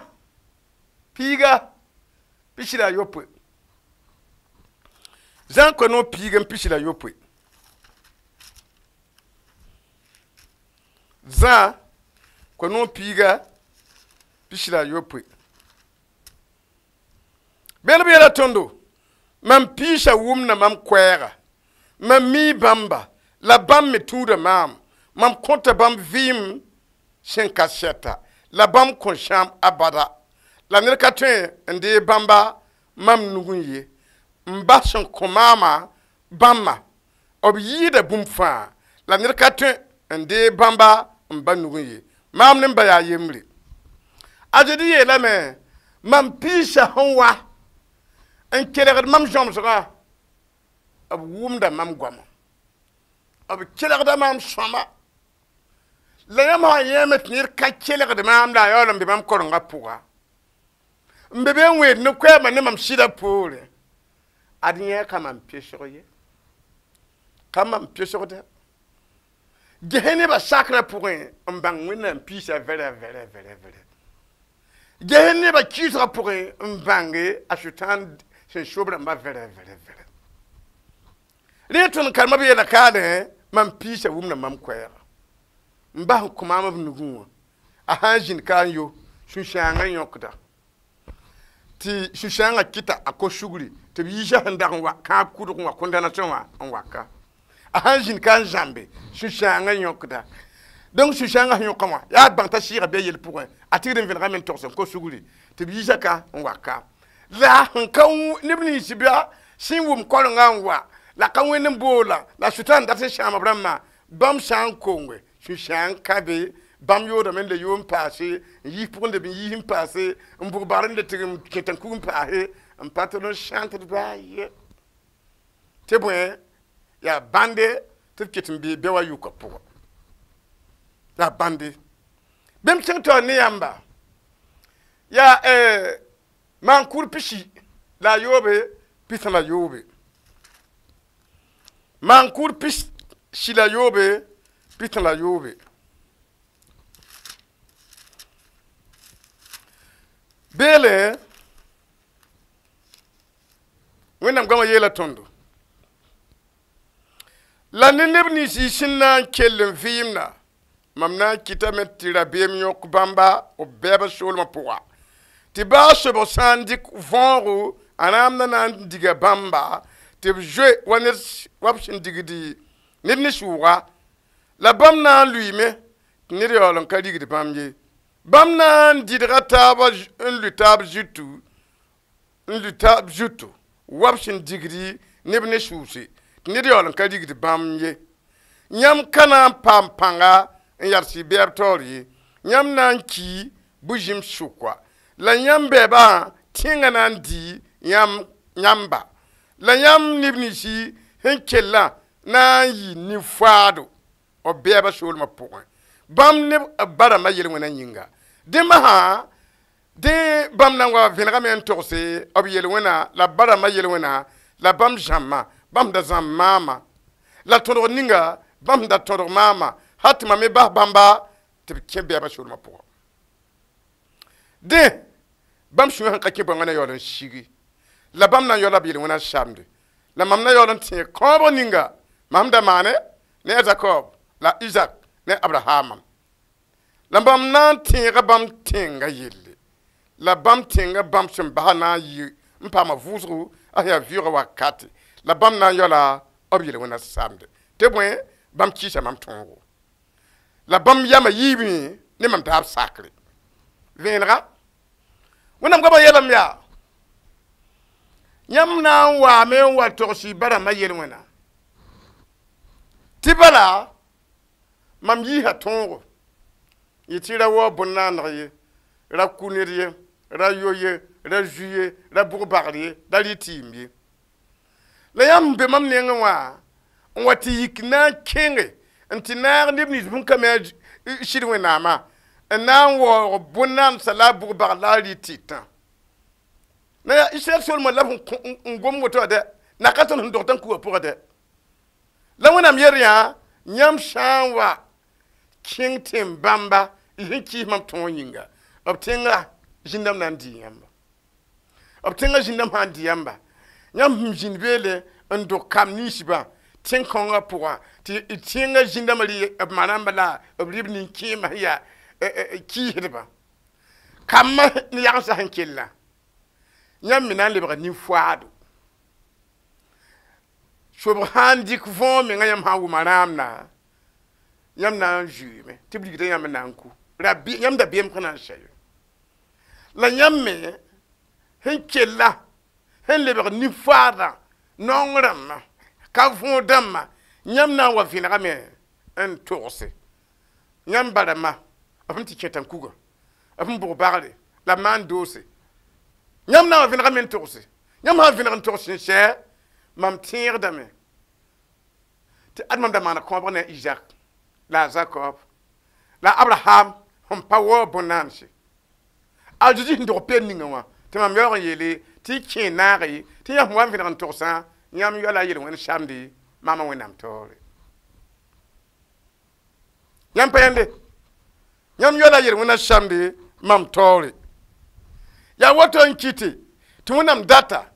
piiga pisi la yopoe Zã koe-noog piig n pisi la yopoe Zã koe-noog piiga pisi la yopoe bel b yeela tõndo mam piisã wʋmda mam koɛɛga mam mii bãmba la bãmb me tũuda maam mam kõta bãmb vɩɩm sẽn ka sɛta la bãmb kõn sãam abada la ned ka tõe n dee bãmba mam nugẽ ye n bas sẽn kõ maamã bãmba b yɩɩda bũmb fãa la ned ka tõe n dee bãmba n ba nugẽ ye Maam ne m ba yaa yembre. A Zezi yeelame mam piisã sẽn wa n kelgd mam zõmsgã b wʋmda mam goama b kelgda maam sõma la yãmb sã yẽeme tɩ ned ka kelgd maam la a yaool n be mam korengã pʋga n be be n wẽed ne koɛɛmã ne mam sɩdã poorẽ ad yẽ ka mam pesg ye ka mam pesgda ges nebã sakrã pʋgẽ n bãng Wẽnnaam piisã vɛrɛ vɛrɛ vɛrɛ vɛrɛ ges nebã kɩɩsgã pʋgẽ n bãnge a sʋtãan sẽn sob rãmbã vɛrɛ vɛrɛ vɛrɛ rẽ tõnd karemã b yeela kaadẽ mam piisã wʋmda mam koɛɛga n bas n kõ maam b nugẽ wã a sã n zĩnd ka n yo sũ-sãangã yõkda tɩ sũ-sãangã kɩta a kos sugri tɩ b yiisã sẽn dag n wa kãab kʋdg n wa condamnation wã n waka a sãn zĩnd ka n zãmbe sũ-sãangã yõkda donc sũ-sãangã sẽn yõka wã yaa bãng t'a sɩɩga bɩ a yel pʋgẽ a tigd n vẽnegame n togs n kos sugri tɩ b yiisã ka n waka la sẽn ka neb nins bɩa sẽn wʋm korengã n wa la ka wẽnd n boola la sʋtãan dat n sãam b rãmbã bãmb sã n konge sũ-sãang ka be bãmb yoodame n le yo n paase n yiis pʋgẽ leb n yiis n paase n bʋg bagr n le tɩg n kẽt n kug n paase n pa tɩ n sãntd baa ye tɩ bõe yaa bãnde tɩ b ket n bee bɛ wa yʋka pʋgã yaa bãnde bẽmb kẽng taoor ne yãmba yaa maan-kʋʋd pisi la a yoobe pistã la yoobe maan-kʋʋd pisi la yoobe pistã la yoobe beele Wẽnnaam goamã yeela tõndo la ne neb nins y sẽn na n kell n vɩɩmda mam na n kɩtame tɩ rabeem yõk bãmba b bɛɛbã soolmã pʋga tɩ baa sobg sã n dɩk võogo a rãamda na n diga bãmba tɩ b zoe wa ned wa b sẽn digdi ned ne sʋʋga la bãmb na n lʋɩɩme tɩ ned yaool n ka rigd bãmb ye bãmb na n dɩdga taaba n lʋ taab zutu n lʋ taab zutu wa b sẽn digdi neb ne sʋʋse tɩ ned yaool n ka rigd bãmb ye yãmb ka na n paam pãnga n yads y bɛɛb taoor ye yãmb na n ki bu-zẽm sʋka la yãmb bɛɛbã tẽngã na n dɩ yãmba la yãmb neb ninsi sẽn kellã na n yɩ nin-faado b bɛɛbã soolmã pʋgẽ bãmb neb b ba rãmbã yel-wẽna yĩnga dẽ masã dẽ bãmb na n wa vẽnegame n togse b yel-wẽna la b ba rãmbã yel-wẽna la bãmb zãmbã bãmb da zãmb maama la tõdg ninga bãmb da tõdg maama hal tɩ mam me bas bãmba tɩ b kẽ bɛɛbã soolmã pʋgã dẽ bãmb sũyã sẽn ka kẽ bõe na yaool n sigi la bãmb na n yaoola b yel-wẽna samde la mam na yaool n tẽeg kãobg ninga mam da maane ne a Zakob la Isaac ne Abraham la bãmb na n tẽega bãmb tẽngã yelle la bãmb tẽngã bãmb sẽn basa na n yɩ n paama vʋʋsgo a sẽn yaa vɩʋʋgã wakate la bãmb na n yaoola b yel-wẽna samde tɩ bõe bãmb kɩɩsa mam tõogo la bãmb yamã yiibẽ ne mam taab sakre vẽenega Wẽnnaam goamã yeelame yaa yãmb na n waame n wa togs y ba rãmbã yel-wẽna tɩ bala mam yiisa tõogo yɩ tɩ ra waoog bõn-naandg ye ra ku ned ye ra yo ye ra zu ye ra bʋg bagr ye ra rɩ tɩɩm ye la yãmb be mam nengẽ wã n wa tɩ yik na n kẽnge n tɩ naag neb nins bũn ka me a sɩd Wẽnnaamã n na n waoog bõn-naandsa la a bʋg bagr la a rɩ tɩtã la yaa Israɛl soolmã la b n gom woto wã dɛ na ka tõnd sẽn dog tã kuga pʋgã dɛ la Wẽnnaam yel yã yãmb sã n wa kẽng tẽn-bãmba y sẽn kɩɩs mam tõog yĩnga b tẽngã zĩndame na n dɩ yãmba b tẽngã zĩndame sã n dɩ yãmba yãmb sẽn zĩnd beele n dog kam ninsbã tẽn-kãongã pʋgã tɩ tẽngã zĩndame rɩ b ma rãmba la b rɩ b nin-kẽemã sẽn yaa kɩɩsdbã kambã ne yagendsã sẽn kellã yãmb me na n lebga nin-faado sobg sã n dɩk võog mengã yãmb sã n wʋma rãamda yãmb na n zuiime tɩ b rigda yãmb n na n ku yãmb dabeem ka na n sɛ ye la yãmb me sẽn kella sẽn lebg nin-faadã naong rãmbã ka võog dãmbã yãmb na n wa vẽnegame n togse yãmb ba rãmbã B sẽn tɩ kẽ tãn-kuga, b sẽn bʋg bagre la b maan doose. Yãmb na n vẽnegame n togse, yãmb sã n vẽneg n togs sẽn sɛ, mam tẽegdame tɩ ad mam da maana kõobg ne a Izak la a Zakob la a Abraham sẽn pa waoog bõn-naanse. A Zeezi sẽn dog peend ninga wã tɩ mam yaoog n yeele tɩ y kẽ naage tɩ yãmb wa n vẽneg n togsã, yãmb yoa la a yel-wẽnd samde maama Wẽnnaam taoore. Yãmb pa yãnde, yãmb yoa la a yel-wẽnda samde mam taoore. Yaa woto n kɩte tɩ Wẽnnaam data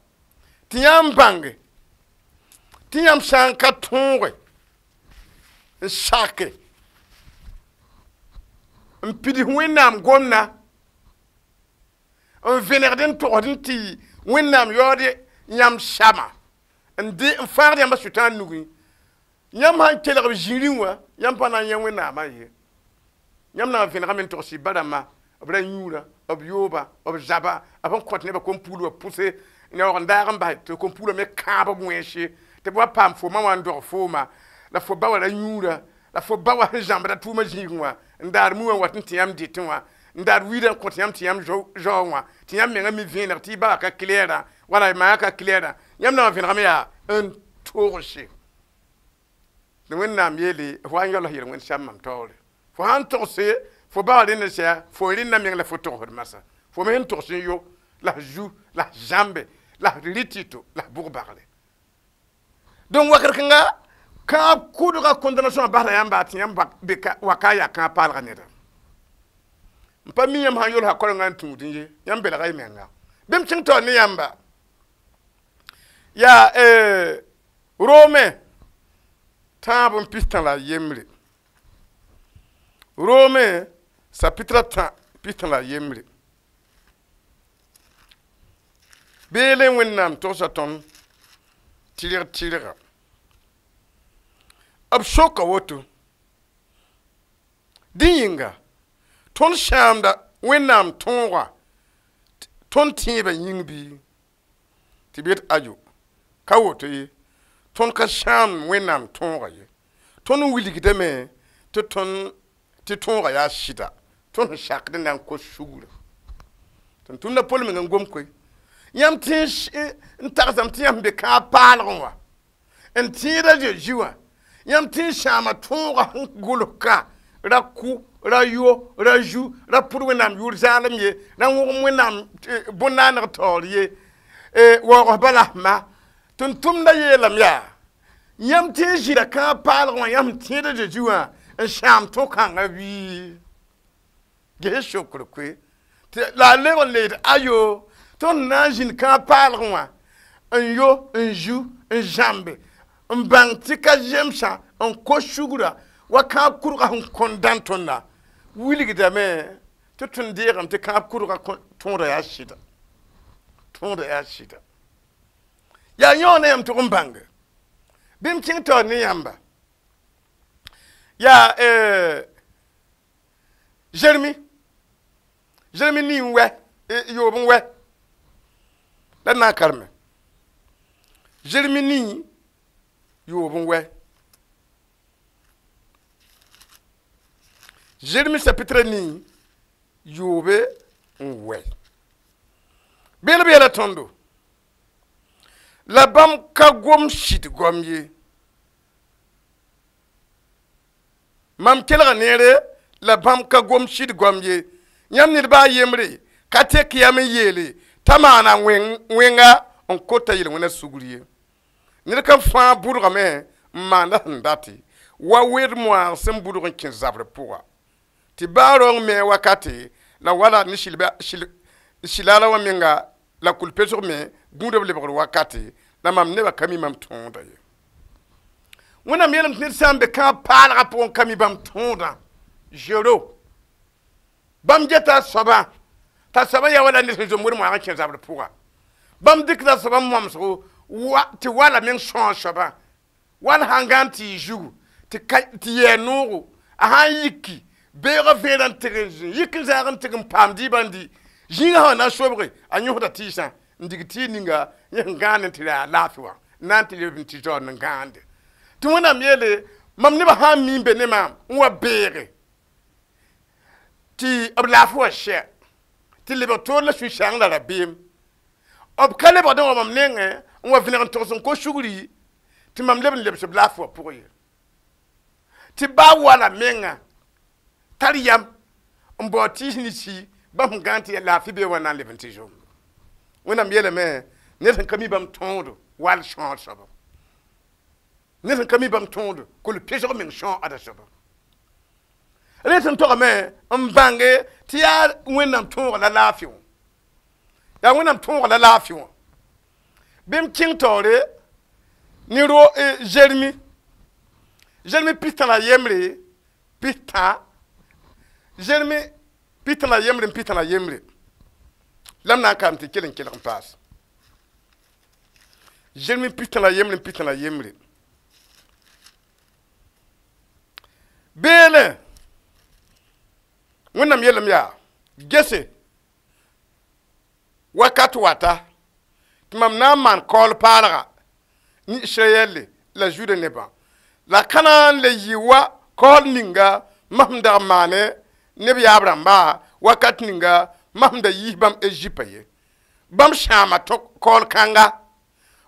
tɩ yãmb bãnge tɩ yãmb sã n ka tõoge n sake n pids Wẽnnaam gomdã n vẽnegd n togsd n tɩ Wẽnnaam yaood yãmb sama n de n fãagd yãmba sʋtãan nugẽ. Yãmb sãn kelg b zĩrĩ wã, yãmb pa na n yã Wẽnnaamã ye. Yãmb na n vẽnegame n togs y ba-rãmbã, b ra yũura, b yooba, b zaba, b sẽn kõt nebã kom-puglã pʋse n yaoog n daag n bas tɩ kom-puglã me kãab b wẽnse tɩ b wa paam fo ma wã n dog fooma la fo ba wa ra yũura la fo ba wa sẽn zãmbda tʋʋmã zĩigẽ wã n daar mu wã n wat n tɩ yãmb dɩtẽ wã n daar wiidã n kõt yãmb tɩ yãmb zaoog wã tɩ yãmb menga mi vẽeneg tɩ y ba wã ka klɛɛrã wala y ma wã ka klɛɛrã. Yãmb na n vẽnegame yaa n togse tɩ Wẽnnaam yeele fo wa n yaool yel-wẽnd sam mam taoore. Fo sãn togse fo ba wã rẽnd n sɛ, fo rẽnda meng la fo togsd masã, fo me sẽn togs n yo la f zu la f zãmbe la f rɩ tɩto la f bʋg bagre. Donc wakat kãnga kãab kʋdga condamnation basda yãmba tɩ yãmb be waka yaa kãab paalga neda. N pa mi yãmb sãn yolsa korenga n tũudẽ ye, yãmb belga y menga. Bɩ m kẽng taoor ne yãmba yaa Rome tãab n pis tã la a yembre. Rome chapitre tã pis tã la a yembre. Beele Wẽnnaam togsa tõnd tɩrg tɩrga. B soka woto dẽ yĩnga tõnd sãamda Wẽnnaam tõoga tõnd tẽebã yĩng bɩ tɩ b yet ayo ka woto ye, tõnd ka sãam Wẽnnaam tõoga ye, tõnd wilgdame tɩ tõnd tɩ tõoga yaa sɩda, tõnd sẽn sakd n na n kos sugrã. Tɩ tʋmda Pol meng n gom koe yãmb tẽ n tagsame tɩ yãmb be kãab paalgẽ wã n tẽeda Zeezi wã, yãmb tẽ n sãama tõoga sẽn gʋls-ka ra kʋ ra yo ra zu ra pʋd Wẽnnaam yʋʋr zaalem ye ra wõgem Wẽnnaam bõn-naaneg taoor ye waoog bala ma tɩ tʋmda yeelame yaa yãmb tẽ n zĩra kãab paalgẽ wã yãmb tẽeda Zeezi wã n sãam tõ-kãngã bɩ ges sokr koe la a lebg n leed ayo tõnd na n zĩnd kãab paalgẽ wã n yo n zu n zãmbe n bãng tɩ ka zemsã n kos sugrã wa kãab kurga sẽn kõn dãn tõnda wilgdame tɩ tõnd deegame tɩ kãab kurga tõoda yaa sɩda, tõoda yaa sɩda. Yaa yõog ne yãmb tʋg n bãnge bɩ m kẽng taoor ne yãmba yaa Zeremi Zeremi nii n wɛ yoob n wɛ la na n kareme Zeremi nii yoob n wɛ Zeremi chapitre nii yoobe n wɛ beel b yɛla tõndo la bãmb ka gom sɩd goam ye mam kelga neere la bãmb ka gom sɩd goam ye yãmb ned baa yembre ka tek yam n yeele t'a maana wẽnga n kota yel-wẽnã sugr ye ned kam fãa bʋdgame n maanda sẽn date wa wed moaag sẽn bʋdg n kẽ zabrã pʋga tɩ baa raoong me wakate la wala ne silaala wã menga la kul-pesg me gũudb lebgr wakate la mam nebã ka mi mam tõoda ye. Wẽnnaam yeelame tɩ ned sã n be kãab paalgã pʋgẽ ka mi bãmb tõodã zero bãmb geta a soabã t'a soabã yaa wala ned sẽn zom wed moaag n kẽ zabrã pʋga bãmb dɩkda soabã momsgo tɩ wala meng sõa soabã wal sãn gãn tɩ y zugu tɩ yɛɛ noogo a sãn yiki beoogã vẽerã n tɩg n zĩ yik n zaag n tɩg n paam dɩɩbã n dɩ zĩigã sã na n sobge a yõsda tɩɩsã n dig tɩ ninga yẽ sẽn gãand n tɩ yaa laafɩ wã n na n tɩ leb n tɩ zaood n gãande tɩ Wẽnnaam yeele mam nebã sã n mi n be ne maam n wa beege Tɩ b laafɩ wã sɛ tɩ lebg toor la sũ-sãang la rabeem b ka lebgd n wa mam nengẽ n wa vẽneg n togs n kos sugri tɩ mam leb n lebs b laafɩ wã pʋgẽ ye tɩ baa wala menga tar yam n bao tɩɩs ninsi bãmb sẽn gãan tɩ yaa laafɩ bee wã na n leb n tɩ zom wẽnnaam yeelame ned sẽn ka mi bãmb tõodo wall sõor soaba ned sẽn ka mi bãmb tõodo kol-pesg meng sõor ada soaba rẽ sẽn togame n bãnge tɩ yaa wẽnnaam tõoga la laafɩ wã yaa wẽnnaam tõoga la laafɩ wã bɩ m kẽng taoore ne ro Zeremi Zeremi pistã la yembre pistã Zeremi pistã la yembre n pistã la yembre la m na n kaam tɩ kell n kelg n paas Zeremi pistã la yembre n pistã la yembre beele wẽnnaam yeelame yaa gese wakat wata tɩ mam na n maan kaool paalga ne Israyɛlle la Zuda nebã la ka na n le yɩ wa kaool ninga mam sẽn dag n maane neb yaab rãmba wakat ninga mam sẽn da yiis bãmb Ezipã ye bãmb sãama kaool kãnga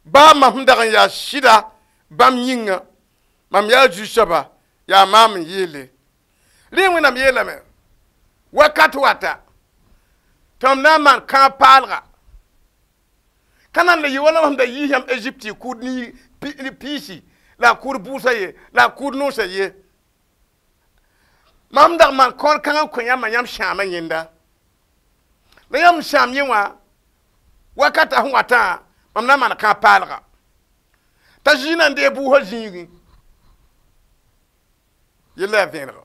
baa mam sẽn dag n yaa sɩda bãmb yĩnga mam yaa zu-soaba yaa maam n yeele rẽ wẽnnaam yeelame wakat wata tɩ mam na n maan kãab paalga ka na n le yɩ wala mam sẽn da yiis yãmb Ezipte y kʋʋd piisi la a kʋʋd bʋʋsã ye la a kʋʋd noosã ye mam dag maan kaool kãng n kõ yãmbã yãmb sãamã yẽnda la yãmb sãam yẽ wã wakata sẽn watã mam na n maan kãab paalga t'a zĩ na n deeg bʋʋsã zĩigẽ yella yaa vẽenega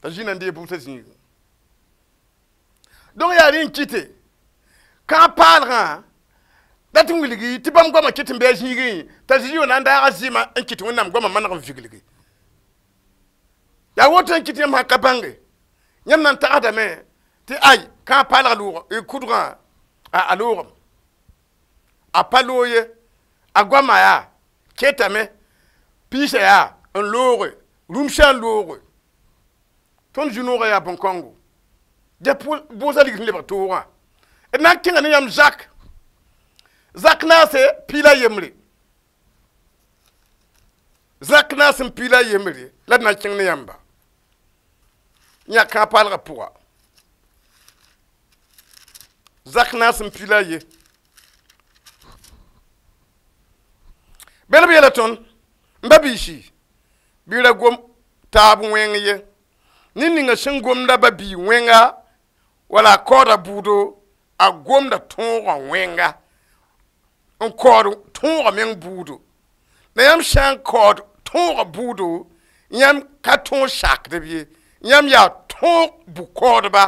t'a zĩ na n deeg bʋʋsã zĩigẽ donc yaa rẽ n kɩte kãab paalgã dat n wilgi tɩ bãmb goamã kɩt n bɩ a zĩigẽ t'a zĩig wã na n daaga zɩɩmã n kɩt wẽnnaam goamã maneg n viglgi yaa woto n kɩt yãmb sã ka bãnge yãmb na n tagsdame tɩ ay kãab paalg loog kʋdgã a loogem a pa loog ye a goamã yaa ketame piisã yaa n looge rũmsã n looge tõnd zu-noogã yaa bõn-kõngo dẽ bʋʋsã lig sẽn lebg toogã d na n kẽnga ne yãmb zak zak naase piila yembre zak naas n piila yembre la d na n kẽng ne yãmba yã kãab paalgã pʋga zak naas n piila ye bel b yeela tõnd n ba biisi bɩ ra gom taab wẽng ye ned ninga sẽn gomda ba bii wẽnga wala a kaooda bʋʋdo a gomda tõogã wẽnga n kaood tõogã meng bʋʋdo la yãmb sã n kaood tõogã bʋʋdo yãmb ka tõog sakdb ye yãmb yaa tõog bʋ-kaoodba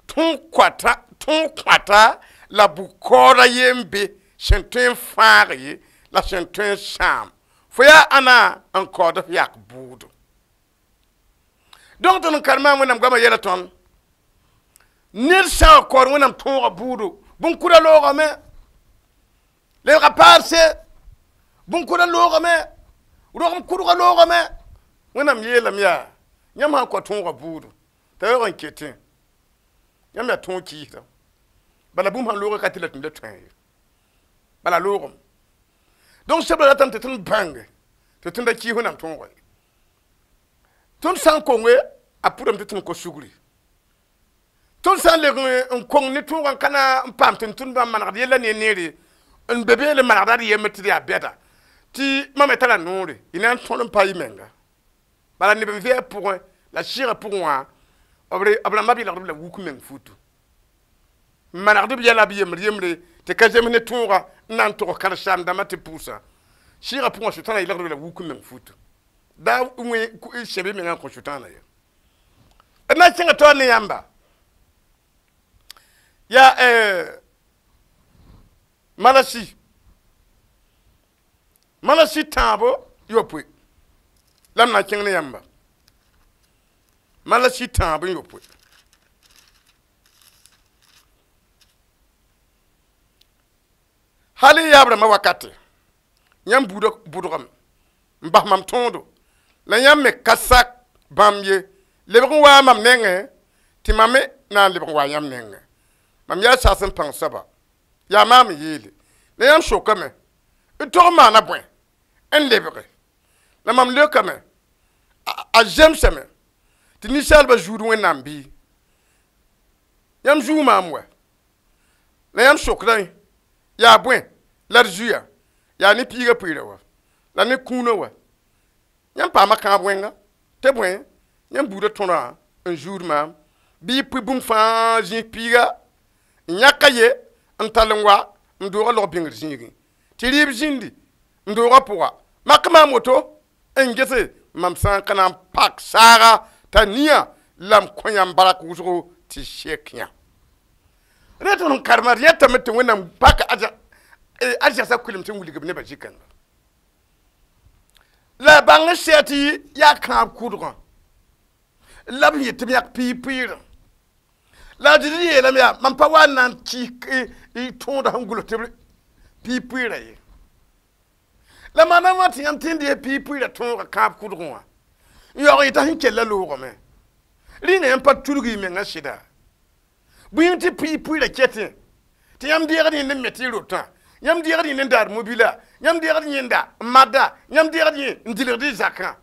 tõog kõata la bʋ-kaooda ye n be sẽn tõe n fãag ye la sẽn tõe n sãam fo yaa ãna n kaood f yak bʋʋdo donc tõnd n karema wẽnnaam goamã yɛla tõnd ned sã n kaood wẽnnaam tõogã bʋʋdo bõn-kʋda loogame lebga paarse bõn-kʋda loogame rogem kʋdga loogame wẽnnaam yeelame yaa yãmb sã n kao tõogã bʋʋdo t'a yaoog n ketẽ yãmb yaa tõog kɩɩsda bala bũmb sãn loogã ka tɩ la tɩ la tõe ye bala loogem donc sebra ratame tɩ tõnd bãnge tɩ tõnd da kɩɩs wẽnnaam tõogã ye tõnd sã n konge a pʋdame tɩ tõnd kos sugri tõnd sã n leg n kong ne tõogã n ka na n paam tɩ tõnd bãmb manegd yella ne neere n be beele manegda d yembre tɩ d yaa bɛda tɩ mam me tara noore y na n tõd n pa y menga bala neb n vɩ a pʋgẽ la sɩɩgã pʋgẽ wã b rãmba b yelgd b la wuk meng futu n manegd b yɛla b yembre yembre tɩ ka zems ne tõoga n na n tog karen-saam-dãmbã tɩ pʋʋsã sɩɩgã pʋgẽ sʋtãana yelgd b la wuk meng futu da wẽ sẽb y mengã n kõ sʋtãana ye d na n kẽnga taoor ne yãmba yaa Malasi Malasi tãabo yopoe la m na n kẽng ne yãmba Malasi tãab n yopoe hal y yaab rãmbã wakate yãmb buudã bʋdgame n bas mam tõodo la yãmb me ka sak bãmb ye lebg n waa mam nengẽ Tɩ mam me na n lebg n wa yãmb nengẽ. Mam yaa saas n pãng soaba. Yaa maam n yeele. La yãmb sokame. D tog n maana bõe n lebge. La mam leokame. A zemsame. Tɩ ninsaalbã zuud Wẽnnaam bɩ. Yãmb zuu maam wa. La yãmb sokdã yaa bõe la d zuya. Yaa ne piigã pʋɩɩrã wa. La ne kũunã wa. Yãmb paama kãab wẽnga. Tɩ bõe yãmb buudã tõrã n zuud maam. Bɩ y pʋɩ bũmb fãa zĩis piiga n yãka ye n tall n wa n doogã log bĩngr zĩigẽ. Tɩ rɩɩb zĩndi n doogã pʋga. Mak maam woto n gese mam sã n ka na n pak saaga t'a nia la m kõ yãmb barak wʋsgo tɩ sek yã. Rẽ tɩ n karema d yẽtame tɩ Wẽnnaam pak arzɛsã kʋlem tɩ n wilg b nebã zĩ-kãnga. La bãng n sɛ tɩ yaa kãab kʋdgã la b yet tɩ b yãk piig pʋɩɩrã. La a Zezi yeelame yaa mam pa wa n na n kɩs tõoda sẽn gʋls tɩ b piig pʋɩɩrã ye. La maana wã tɩ yãmb tẽnd yaa piig pʋɩɩrã tõoga kãab kʋdgẽ wã n yaoog yeta sẽn kella loogame. Rĩnga yãmb pa tudg y mengã sɩda. Bõe tɩ piig pʋɩɩrã kɛtẽ tɩ yãmb deegd yẽnd n me tɩ y rotã, yãmb deegd yẽnd n daad mobila, yãmb deegd yẽnda n madda, yãmb deegd yẽ n dilgd y zakã.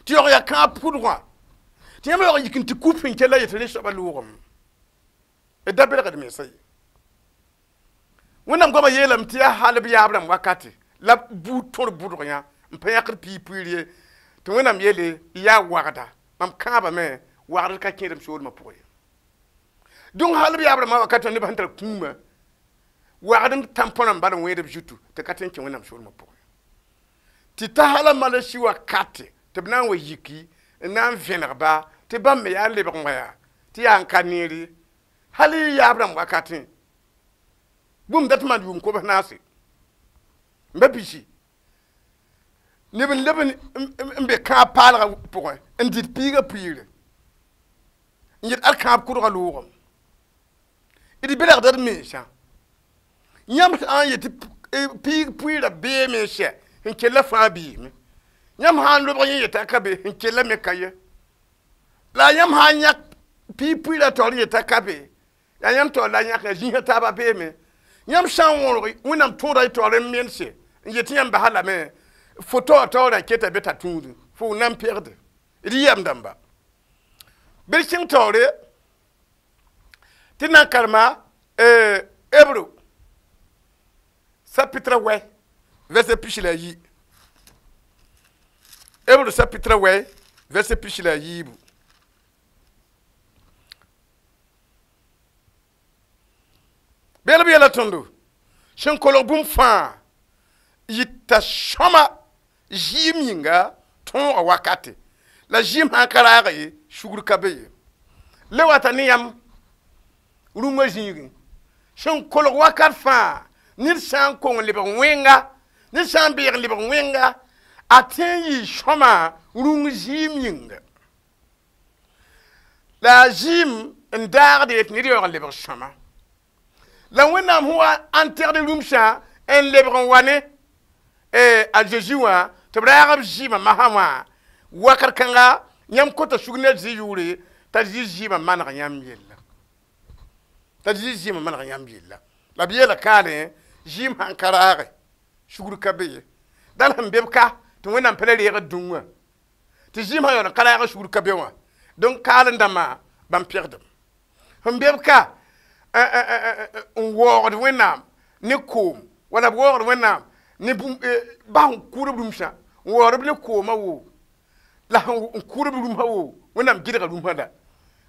Tɩ yaoog yaa kãab kʋdgã. Tɩ yãmb yaoog yik n tɩ kup sẽn kella yetɩ rẽ soabã loogame. D da belgd mensã ye. Wẽnnaam goamã yeelame tɩ yaa hal b yaab rãmb wakate la buud tõr bʋdg yã n pa yãkd piig pʋɩɩr ye. Tɩ Wẽnnaam yeele yaa wagda. Mam kãabame wagd ka kẽedem soolmã pʋgẽ ye. Donc hal b yaab rãmbã wakatã nebã sẽn tar kũumã wagd n tãmpõrã n bal n wẽed b zutu tɩ ka tõe n kẽ Wẽnnaam soolmã pʋgẽ. Tɩ ta hala malasi wakate tɩ b na n wa yiki n na n vẽnegba tɩ bãmb me yaa n lebg n wa yaa tɩ yaa n ka neer ye. Hal y yaab rãmb wakatẽ bũmb dat maan yʋʋm kobs naase n ba bisi neb n leb n be kãab paalgã pʋgẽ n dɩt piigã pʋɩɩre n yet ad kãab kʋdgã loogame. D belgda d mensã. Yãmb sã n yet tɩ piig pʋɩɩrã beeme n sɛ n kella fãa beeme. Yãmb sã n lobg yẽ yeta ka be n kella me ka ye. La yãmb sã n yãk piig pʋɩɩrã taoor yeta ka be yaa yãmb taoor la yãk ya zĩisã taabã beeme. Yãmb sã n wõrg Wẽnnaam tõoda y taoor n mense n yet tɩ yãmb basa lame fo taoor taoorã keta be t'a tũudẽ fo na n pegde. D yɛm dãmba. Bɩ d kẽng taoore tɩ na n karema Hébreu chapitre wɛ verset pis la yi. Hébreu chapitre wɛ verset pis la yiibu. Beel b yeela tõndo sẽn kolg bũmb fãa yita sõma zɩɩm yĩnga tõoga wakate. La zɩɩm sã n ka raag ye sugr ka be ye. Le wata ne yãmb rũngã zĩigẽ sẽn kolg wakat fãa ned sã n kong lebg wẽnga, ned sã n beeg lebg wẽnga a tõe n yɩ sõma rũng zɩɩm yĩnga. La a zɩɩm n daagd ye tɩ ned yaoog n lebg sõma. La Wẽnnaam sẽn wa n tẽgd rũmsã n lebg n wa ne a Zeezi wã tɩ b raag b zɩɩmã masã wã wakat kãnga yãmb kota sug ne zɩ yʋʋre t'a zɩ zɩɩmã maneg yãmb yella. T'a zɩ zɩɩmã maneg yãmb yella. La b yeela kaalẽ zɩɩm sãn ka raage sugr ka be ye. Dal sẽn be b ka tɩ Wẽnnaam pa le reegd dũngã tɩ zɩɩm sã yaool n ka raag sugr ka be wã. Donc kaal n dãmbã bãmb pegdem. Sẽn be b ka n waoogd Wẽnnaam ne koom wala b waoogd Wẽnnaam ne bas n kʋʋd b rũmsã n waood b ne koomã woo la n kʋʋd b rũmsã woo Wẽnnaam gɩdga rũmsã la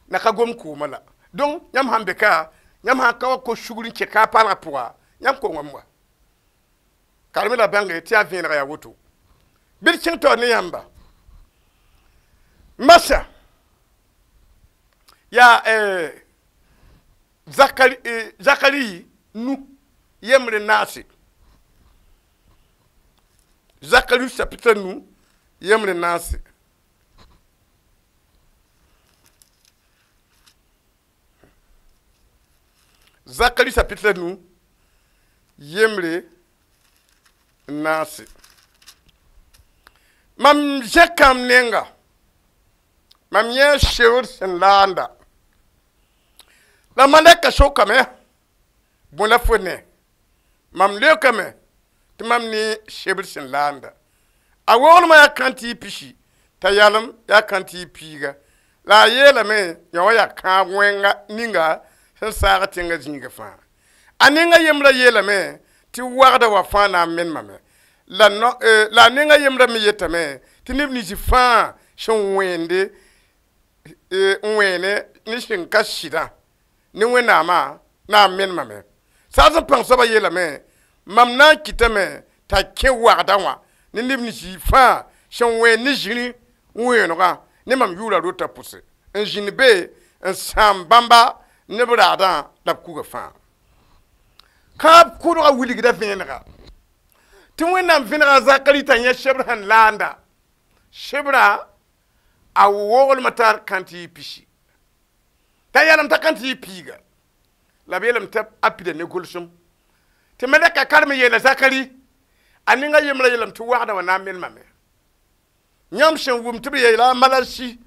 la ka gom koomã la. Donc yãmb sãn be ka yãmb sãn ka wa kos sugr n kẽ kaab paalgã pʋga yãmb kongame wa. Kareme la bãnge tɩ yaa vẽenega yaa woto. Bɩ d kẽng taoor ne yãmba. Masa yaa Zakari Zakari nu yembre naase. Zakari chapitre nu yembre naase. Zakari chapitre nu yembre naase. Mam zẽkam nenga mam yẽ sewd sẽn laanda La malɛka sokame bõe la fo ne mam leokame tɩ mam ne sebr sẽn laanda a woglmã yaa kãn-tɩ y pisi t'a yalem yaa kãn-tɩ y piiga la a yeelame yã wã yaa kãab wẽnga ninga sẽn saag tẽngã zĩiga fãa a ninga yembrã yeelame tɩ wagda wa fãa na n menemame la no la a ninga yembrã me yetame tɩ neb nins fãa sẽn wẽende n wẽene ne sẽn ka sɩdã ne wẽnnaamã na n menemame saas n pãng soabã yeelame mam na n kɩtame t'a kẽ wagda wã ne neb nins fãa sẽn wẽen ne zĩri wẽenegã ne mam yʋʋra rota pʋse n zĩnd be n sãam bãmba neb raadã la b kuga fãa kãab kʋdga wilgda vẽenega tɩ wẽnnaam vẽnega Zakari t'a yẽ sebr sẽn laanda sebra a woglmã tar kãn-tɩ y pisi t'a yalem t'a kãn-tɩ y piiga la b yeelame tɩ a pida ne gʋlsem tɩ malɛka karem yeela Zakari a ninga yembrã yeelame tɩ wagda wã na n menemame yãmb sẽn wʋm tɩ b yeela a malasi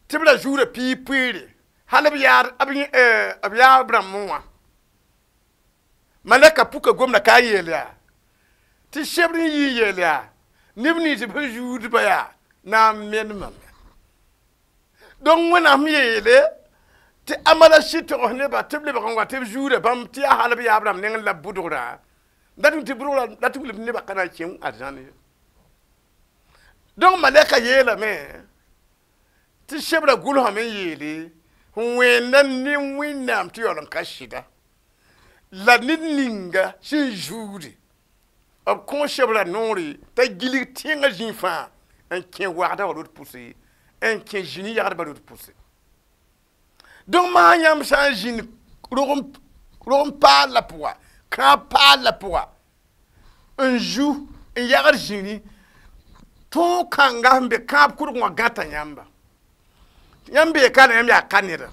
tɩ b ra zuura piig pʋɩɩre hal b yaad b yaab rãmbẽ wã malɛka puka gomda ka yeel yaa tɩ sebr n yi n yeel yaa neb nins b sẽn zuudba yaa na n menemame donc wẽnnaam yeele tɩ a malasi togs neba tɩ b lebg n wa tɩ b zuura bãmb tɩ yaa hal b yaab rãmb nengẽ la bʋdgra dat tɩ bʋdgra la tɩ wilg nebã ka na n kẽ arzãn ye donc malɛka yeelame tɩ sebra gʋlsame n yeele n wẽnda ne wẽnnaam tɩ yaool n ka sɩda la ned ninga sẽn zuude b kõ sebra noore t'a gilg tẽngã zĩig fãa n kẽ wagda wã rot pʋse n kẽ zĩni yagdbã rot pʋse donc maa yãmb sã n zĩnd rog n paal la pʋga kãab paal la pʋga n zu n yagd zĩri tõog kãnga sẽn be kãab kʋdg wã gãta yãmba yãmb bee ka la yãmb yaa ka neda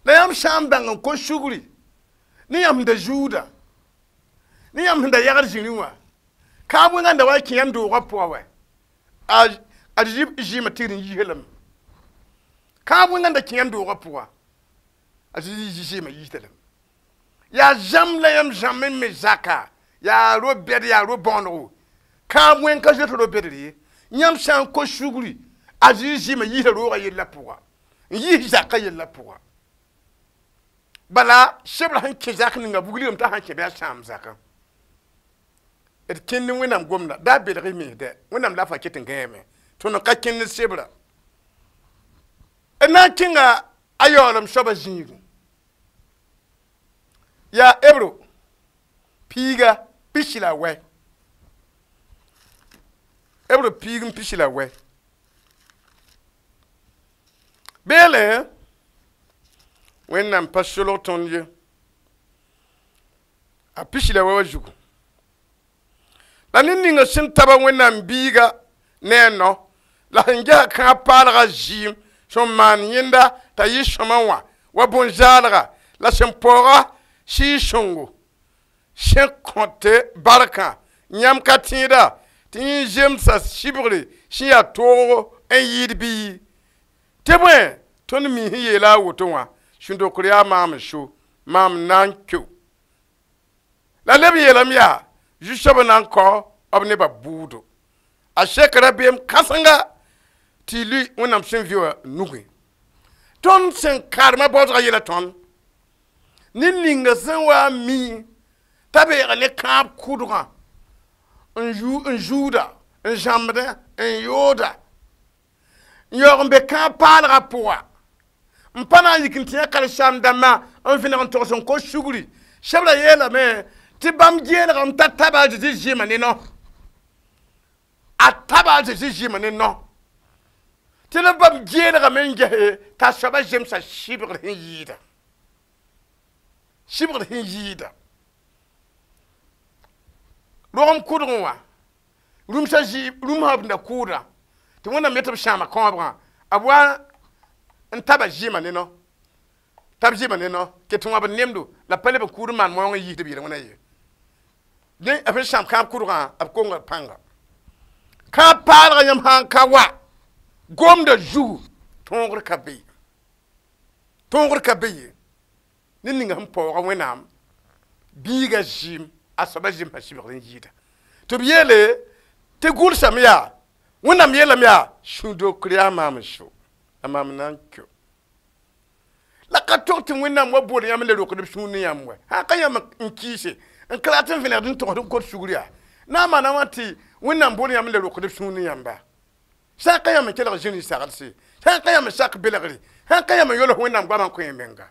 la yãmb sã n bãng n kos sugri ne yãmb sẽn da zuuda ne yãmb sẽn da yagd zĩri wã kãab wẽnga n da wa n kẽ yãmb doogã pʋga wɛ a zɩɩmã tɩgd n yiisã lame kãab wẽnga n da kẽ yãmb doogã pʋga a zɩɩmã yiisda lame yaa zãmb la yãmb zãmb n me zaka yaa ro-bɛd yaa ro-bõonego kãab wẽng ka zoet ro-bɛdr ye yãmb sã n kos sugri a zɩ zɩɩmã yiisã roogã yellã pʋga n yiis zakã yellã pʋga bala sebra sẽn kẽ zak ninga bugligame t'a sãn kẽ bɩ a sãam zakã d kẽnd wẽnnaam gomda daa belg y mens dɛ wẽnnaam la fa ket n gãeme tõnd ka kẽnd sebra d na n kẽnga a yaoolem soabã zĩigu yaa ebro piiga pisi la wɛ ebro piig n pisi la wɛ beele wẽnnaam pa solg tõnd ye a pisi la wɛ wa zugu la ned ninga sẽn taba wẽnnaam biiga ne a no la sẽn ges kãab paalga zɩɩm sẽn maan yẽnda t'a yɩ sõma wã wa bõn-zaalga la sẽn paooga sɩɩg-sõngo sẽn kõte barkã yãmb ka tẽeda tɩ yẽ zemsa sɩbgre sẽn yaa toogo n yɩɩd bɩ tɩ bõe tõnd mi sẽn yeela a woto wã sũ-dokr yaa maam n so maam na n keo la leb yeelame yaa zu-soabã na n kao b nebã bʋʋdo a sek rabeem kãsenga tɩ y lʋɩ wẽnnaam sẽn vɩ wã nugẽ tõnd sẽn karemã baoodgã yeela tõnd ned ninga sẽn wa n mi t'a beega ne kãab kʋdgã n zuuda n zãmbdẽ n yooda n yaoog n be kãab paalgã pʋga n pa na n yik n tẽ a karen-saam dãmbã n vẽneg n togs n kos sugri sebra yeelame tɩ bãmb geelgame t'a taba a Zezi zɩɩmã ne no a taba a Zezi zɩɩmã ne no tɩ la bãmb geelgame n gese t'a soabã zemsa sɩbgr sẽn yɩɩda sɩbgr sẽn yɩɩda rogem kʋdgẽ wã rũmsã rũmsã b da kʋʋda tɩ wẽnnaam yetɩ b sãama kãobgã b wa n taba zɩɩmã ne no tab zɩɩmã ne no ket n wãbd nemdo la pa leb n kʋʋd n maan moong n yiisd b yel wẽna ye dẽ b sẽn sãam kãab kʋdgã b konga pãnga kãab paalgã yãmb sã n ka wa gomda zugu tõogr ka be tõogr ka be ye ned ninga sẽn paooga Wẽnnaam biiga zɩɩm a soaba zɩɩm sã sɩbgd n yɩɩda tɩ b yeele tɩ gʋlsame yaa Wẽnnaam yeelame yaa sũ-dokr yaa maam so la maam na n keo la ka tog tɩ Wẽnnaam wa bool yãmb n le rokd b sũur ne yãmb wɛ sã ka yãmb n kiise n ka rat n vẽnegd n togsd n kot sugr yaa na n maana wã tɩ Wẽnnaam bool yãmb n le rokd b sũur ne yãmba sã n ka yãmb n kelg zĩri saglse sã n ka yãmb n sak belgre sã n ka yãmb n yols Wẽnnaam goamã n kõ yẽ menga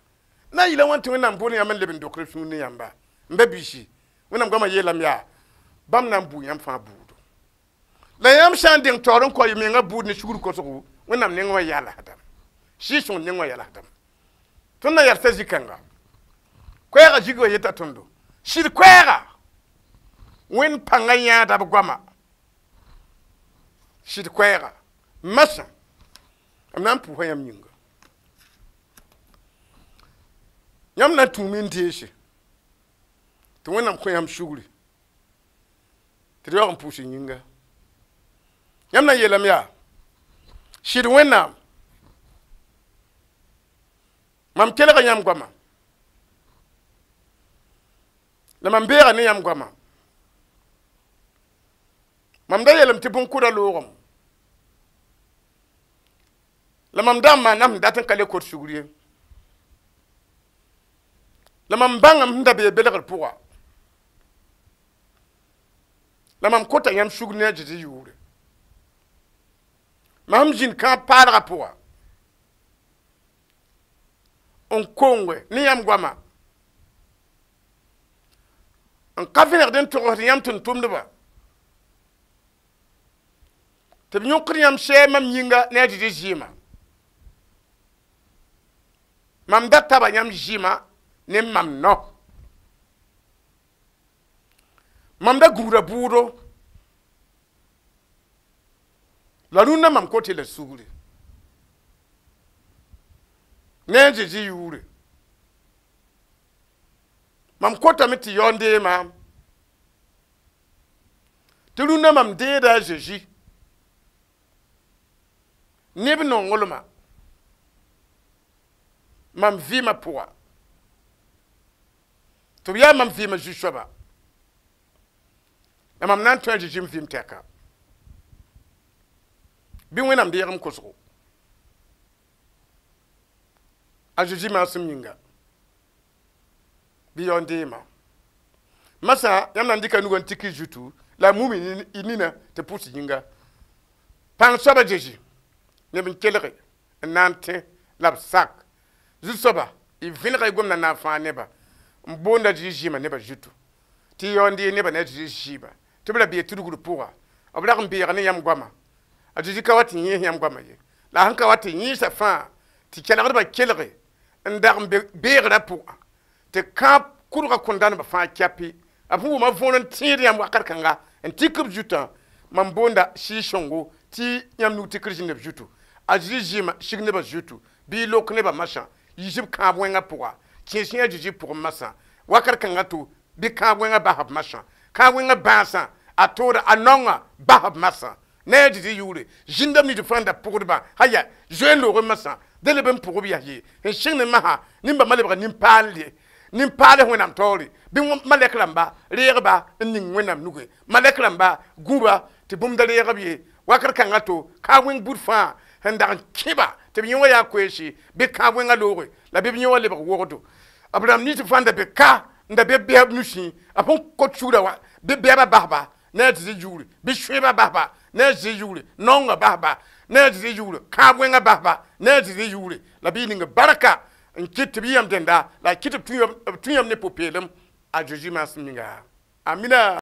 na n yɩla wãn tɩ Wẽnnaam bool yãmb n leb n dokd b sũur ne yãmba n ba biisi Wẽnnaam goamã yeelame yaa bãmb na n buu yãmb fãa buudo la yãmb sã n deng taoor n kao y menga buud ne sugr kosgo Wẽnnaam neng wã yalsdame Sɩɩg-sõng neng wã yalsdame tõnd na yalsa zĩ-kãnga koɛɛgã zig wa yeta tõndo sɩd koɛɛga Wẽnd pãngã yãada b goama sɩd koɛɛga masã m na n pʋʋsa yãmb yĩnga yãmb na n tũume n deese tɩ Wẽnnaam kõ yãmb sugri tɩ d yaoog n pʋʋs y yĩnga yãmb na n yeelame yaa sɩd Wẽnnaam mam kelga yãmb goama la mam beega ne yãmb goama mam da yeelame tɩ bõn-kʋda loogem la mam da n maana sẽn dat n ka le kot sugr ye la mam bãngame sẽn da bee belgr pʋga la mam kota yãmb sugr ne a Zezi yʋʋre mam sẽn zĩnd kãab paalgã pʋga n konge ne yãmb goama n ka vẽnegd n togsd yãmb tʋm-tʋmdba tɩ b yõkd yãmb sɛɛb mam yĩnga ne a Zezi zɩɩmã mam da taba yãmb zɩɩmã ne mam no mam da gũuda bʋʋdo la rũndã mam kote la sugri ne a Zezi yʋʋre mam kotame tɩ yao n dee maam tɩ rũndã mam deeda a Zezi neb nonglmã mam vɩɩmã pʋga tɩ b yaa mam vɩɩmã zu-soaba la mam na n tõe a Zezi m vɩɩm tɛka bɩ Wẽnnaam deeg m kosgo a Zezi maasem yĩnga bɩ yao n deema masã yãmb na n dɩka nugã n tik y zutu la a mum y nina tɩ pʋs yĩnga pãng soaba Zezi neb n kelge n na n tẽ la b sak zu-soaba y vẽnega y gomdã na n fãag neba n boonda Zezi zɩɩmã nebã zutu tɩ y yao n dee nebã ne a Zezi zɩɩma tɩ b ra bee tudgr pʋga b rag n beega ne yãmb goama a Zezi ka wa tɩ yẽes yãmb goamã ye la a sẽn ka wa tɩ yẽesa fãa tɩ kelgdbã kelge n dag n be beegrã pʋgã tɩ kãab kʋdgã kõn-dãnba fãa kɛpɩ b sẽn wʋma võor n tẽed yãmb wakat kãnga n tik b zutã mam boonda Sɩɩg-sõngo tɩ yãmb nug tikr zĩnd b zutu a Zezi zɩɩmã sig nebã zutu bɩ y lok nebã masã yiis b kãab wẽngã pʋga kẽes yã Zezi pʋgẽ masã wakat kãngã to bɩ kãab wẽngã bas b masã kãab wẽngã bãasã a tooda a naongã bas b masã ne a Zezi yʋʋre zĩndame nins fãa n da pʋgdbã haya zoe n loog masã dẽ leb n pʋg b yaa ye n sɩng ne masã nin-bãmba lebga nin-paal nin-paals Wẽnnaam taoore bɩ malɛk rãmba reegba n ning Wẽnnaam nugẽ malɛk rãmba gũba tɩ bũmb da reeg b ye wakat kãngã to kãab wẽng bud fãa sẽn dag n kẽba tɩ b yẽ wã yaa koeese bɩ kãab wẽngã looge la bɩ b yẽ wã lebg wogdo b rãmb nins fãa n da be ka n da be bɛɛb nusẽ a sẽn kot sugrã wã bɩ bɛɛbã basba ne a Zezi yʋʋre bɩ sõebã basba ne a Zezi yʋʋre naongã basba ne a Zezi yʋʋre kãab wẽngã basba ne a Zezi yʋʋre la bɩ y ning barka n kɩt tɩ b yɩ yãmb dẽnda la a kɩt b tũ yãmb ne pʋ-peelem a Zezi maasem yĩnga amina.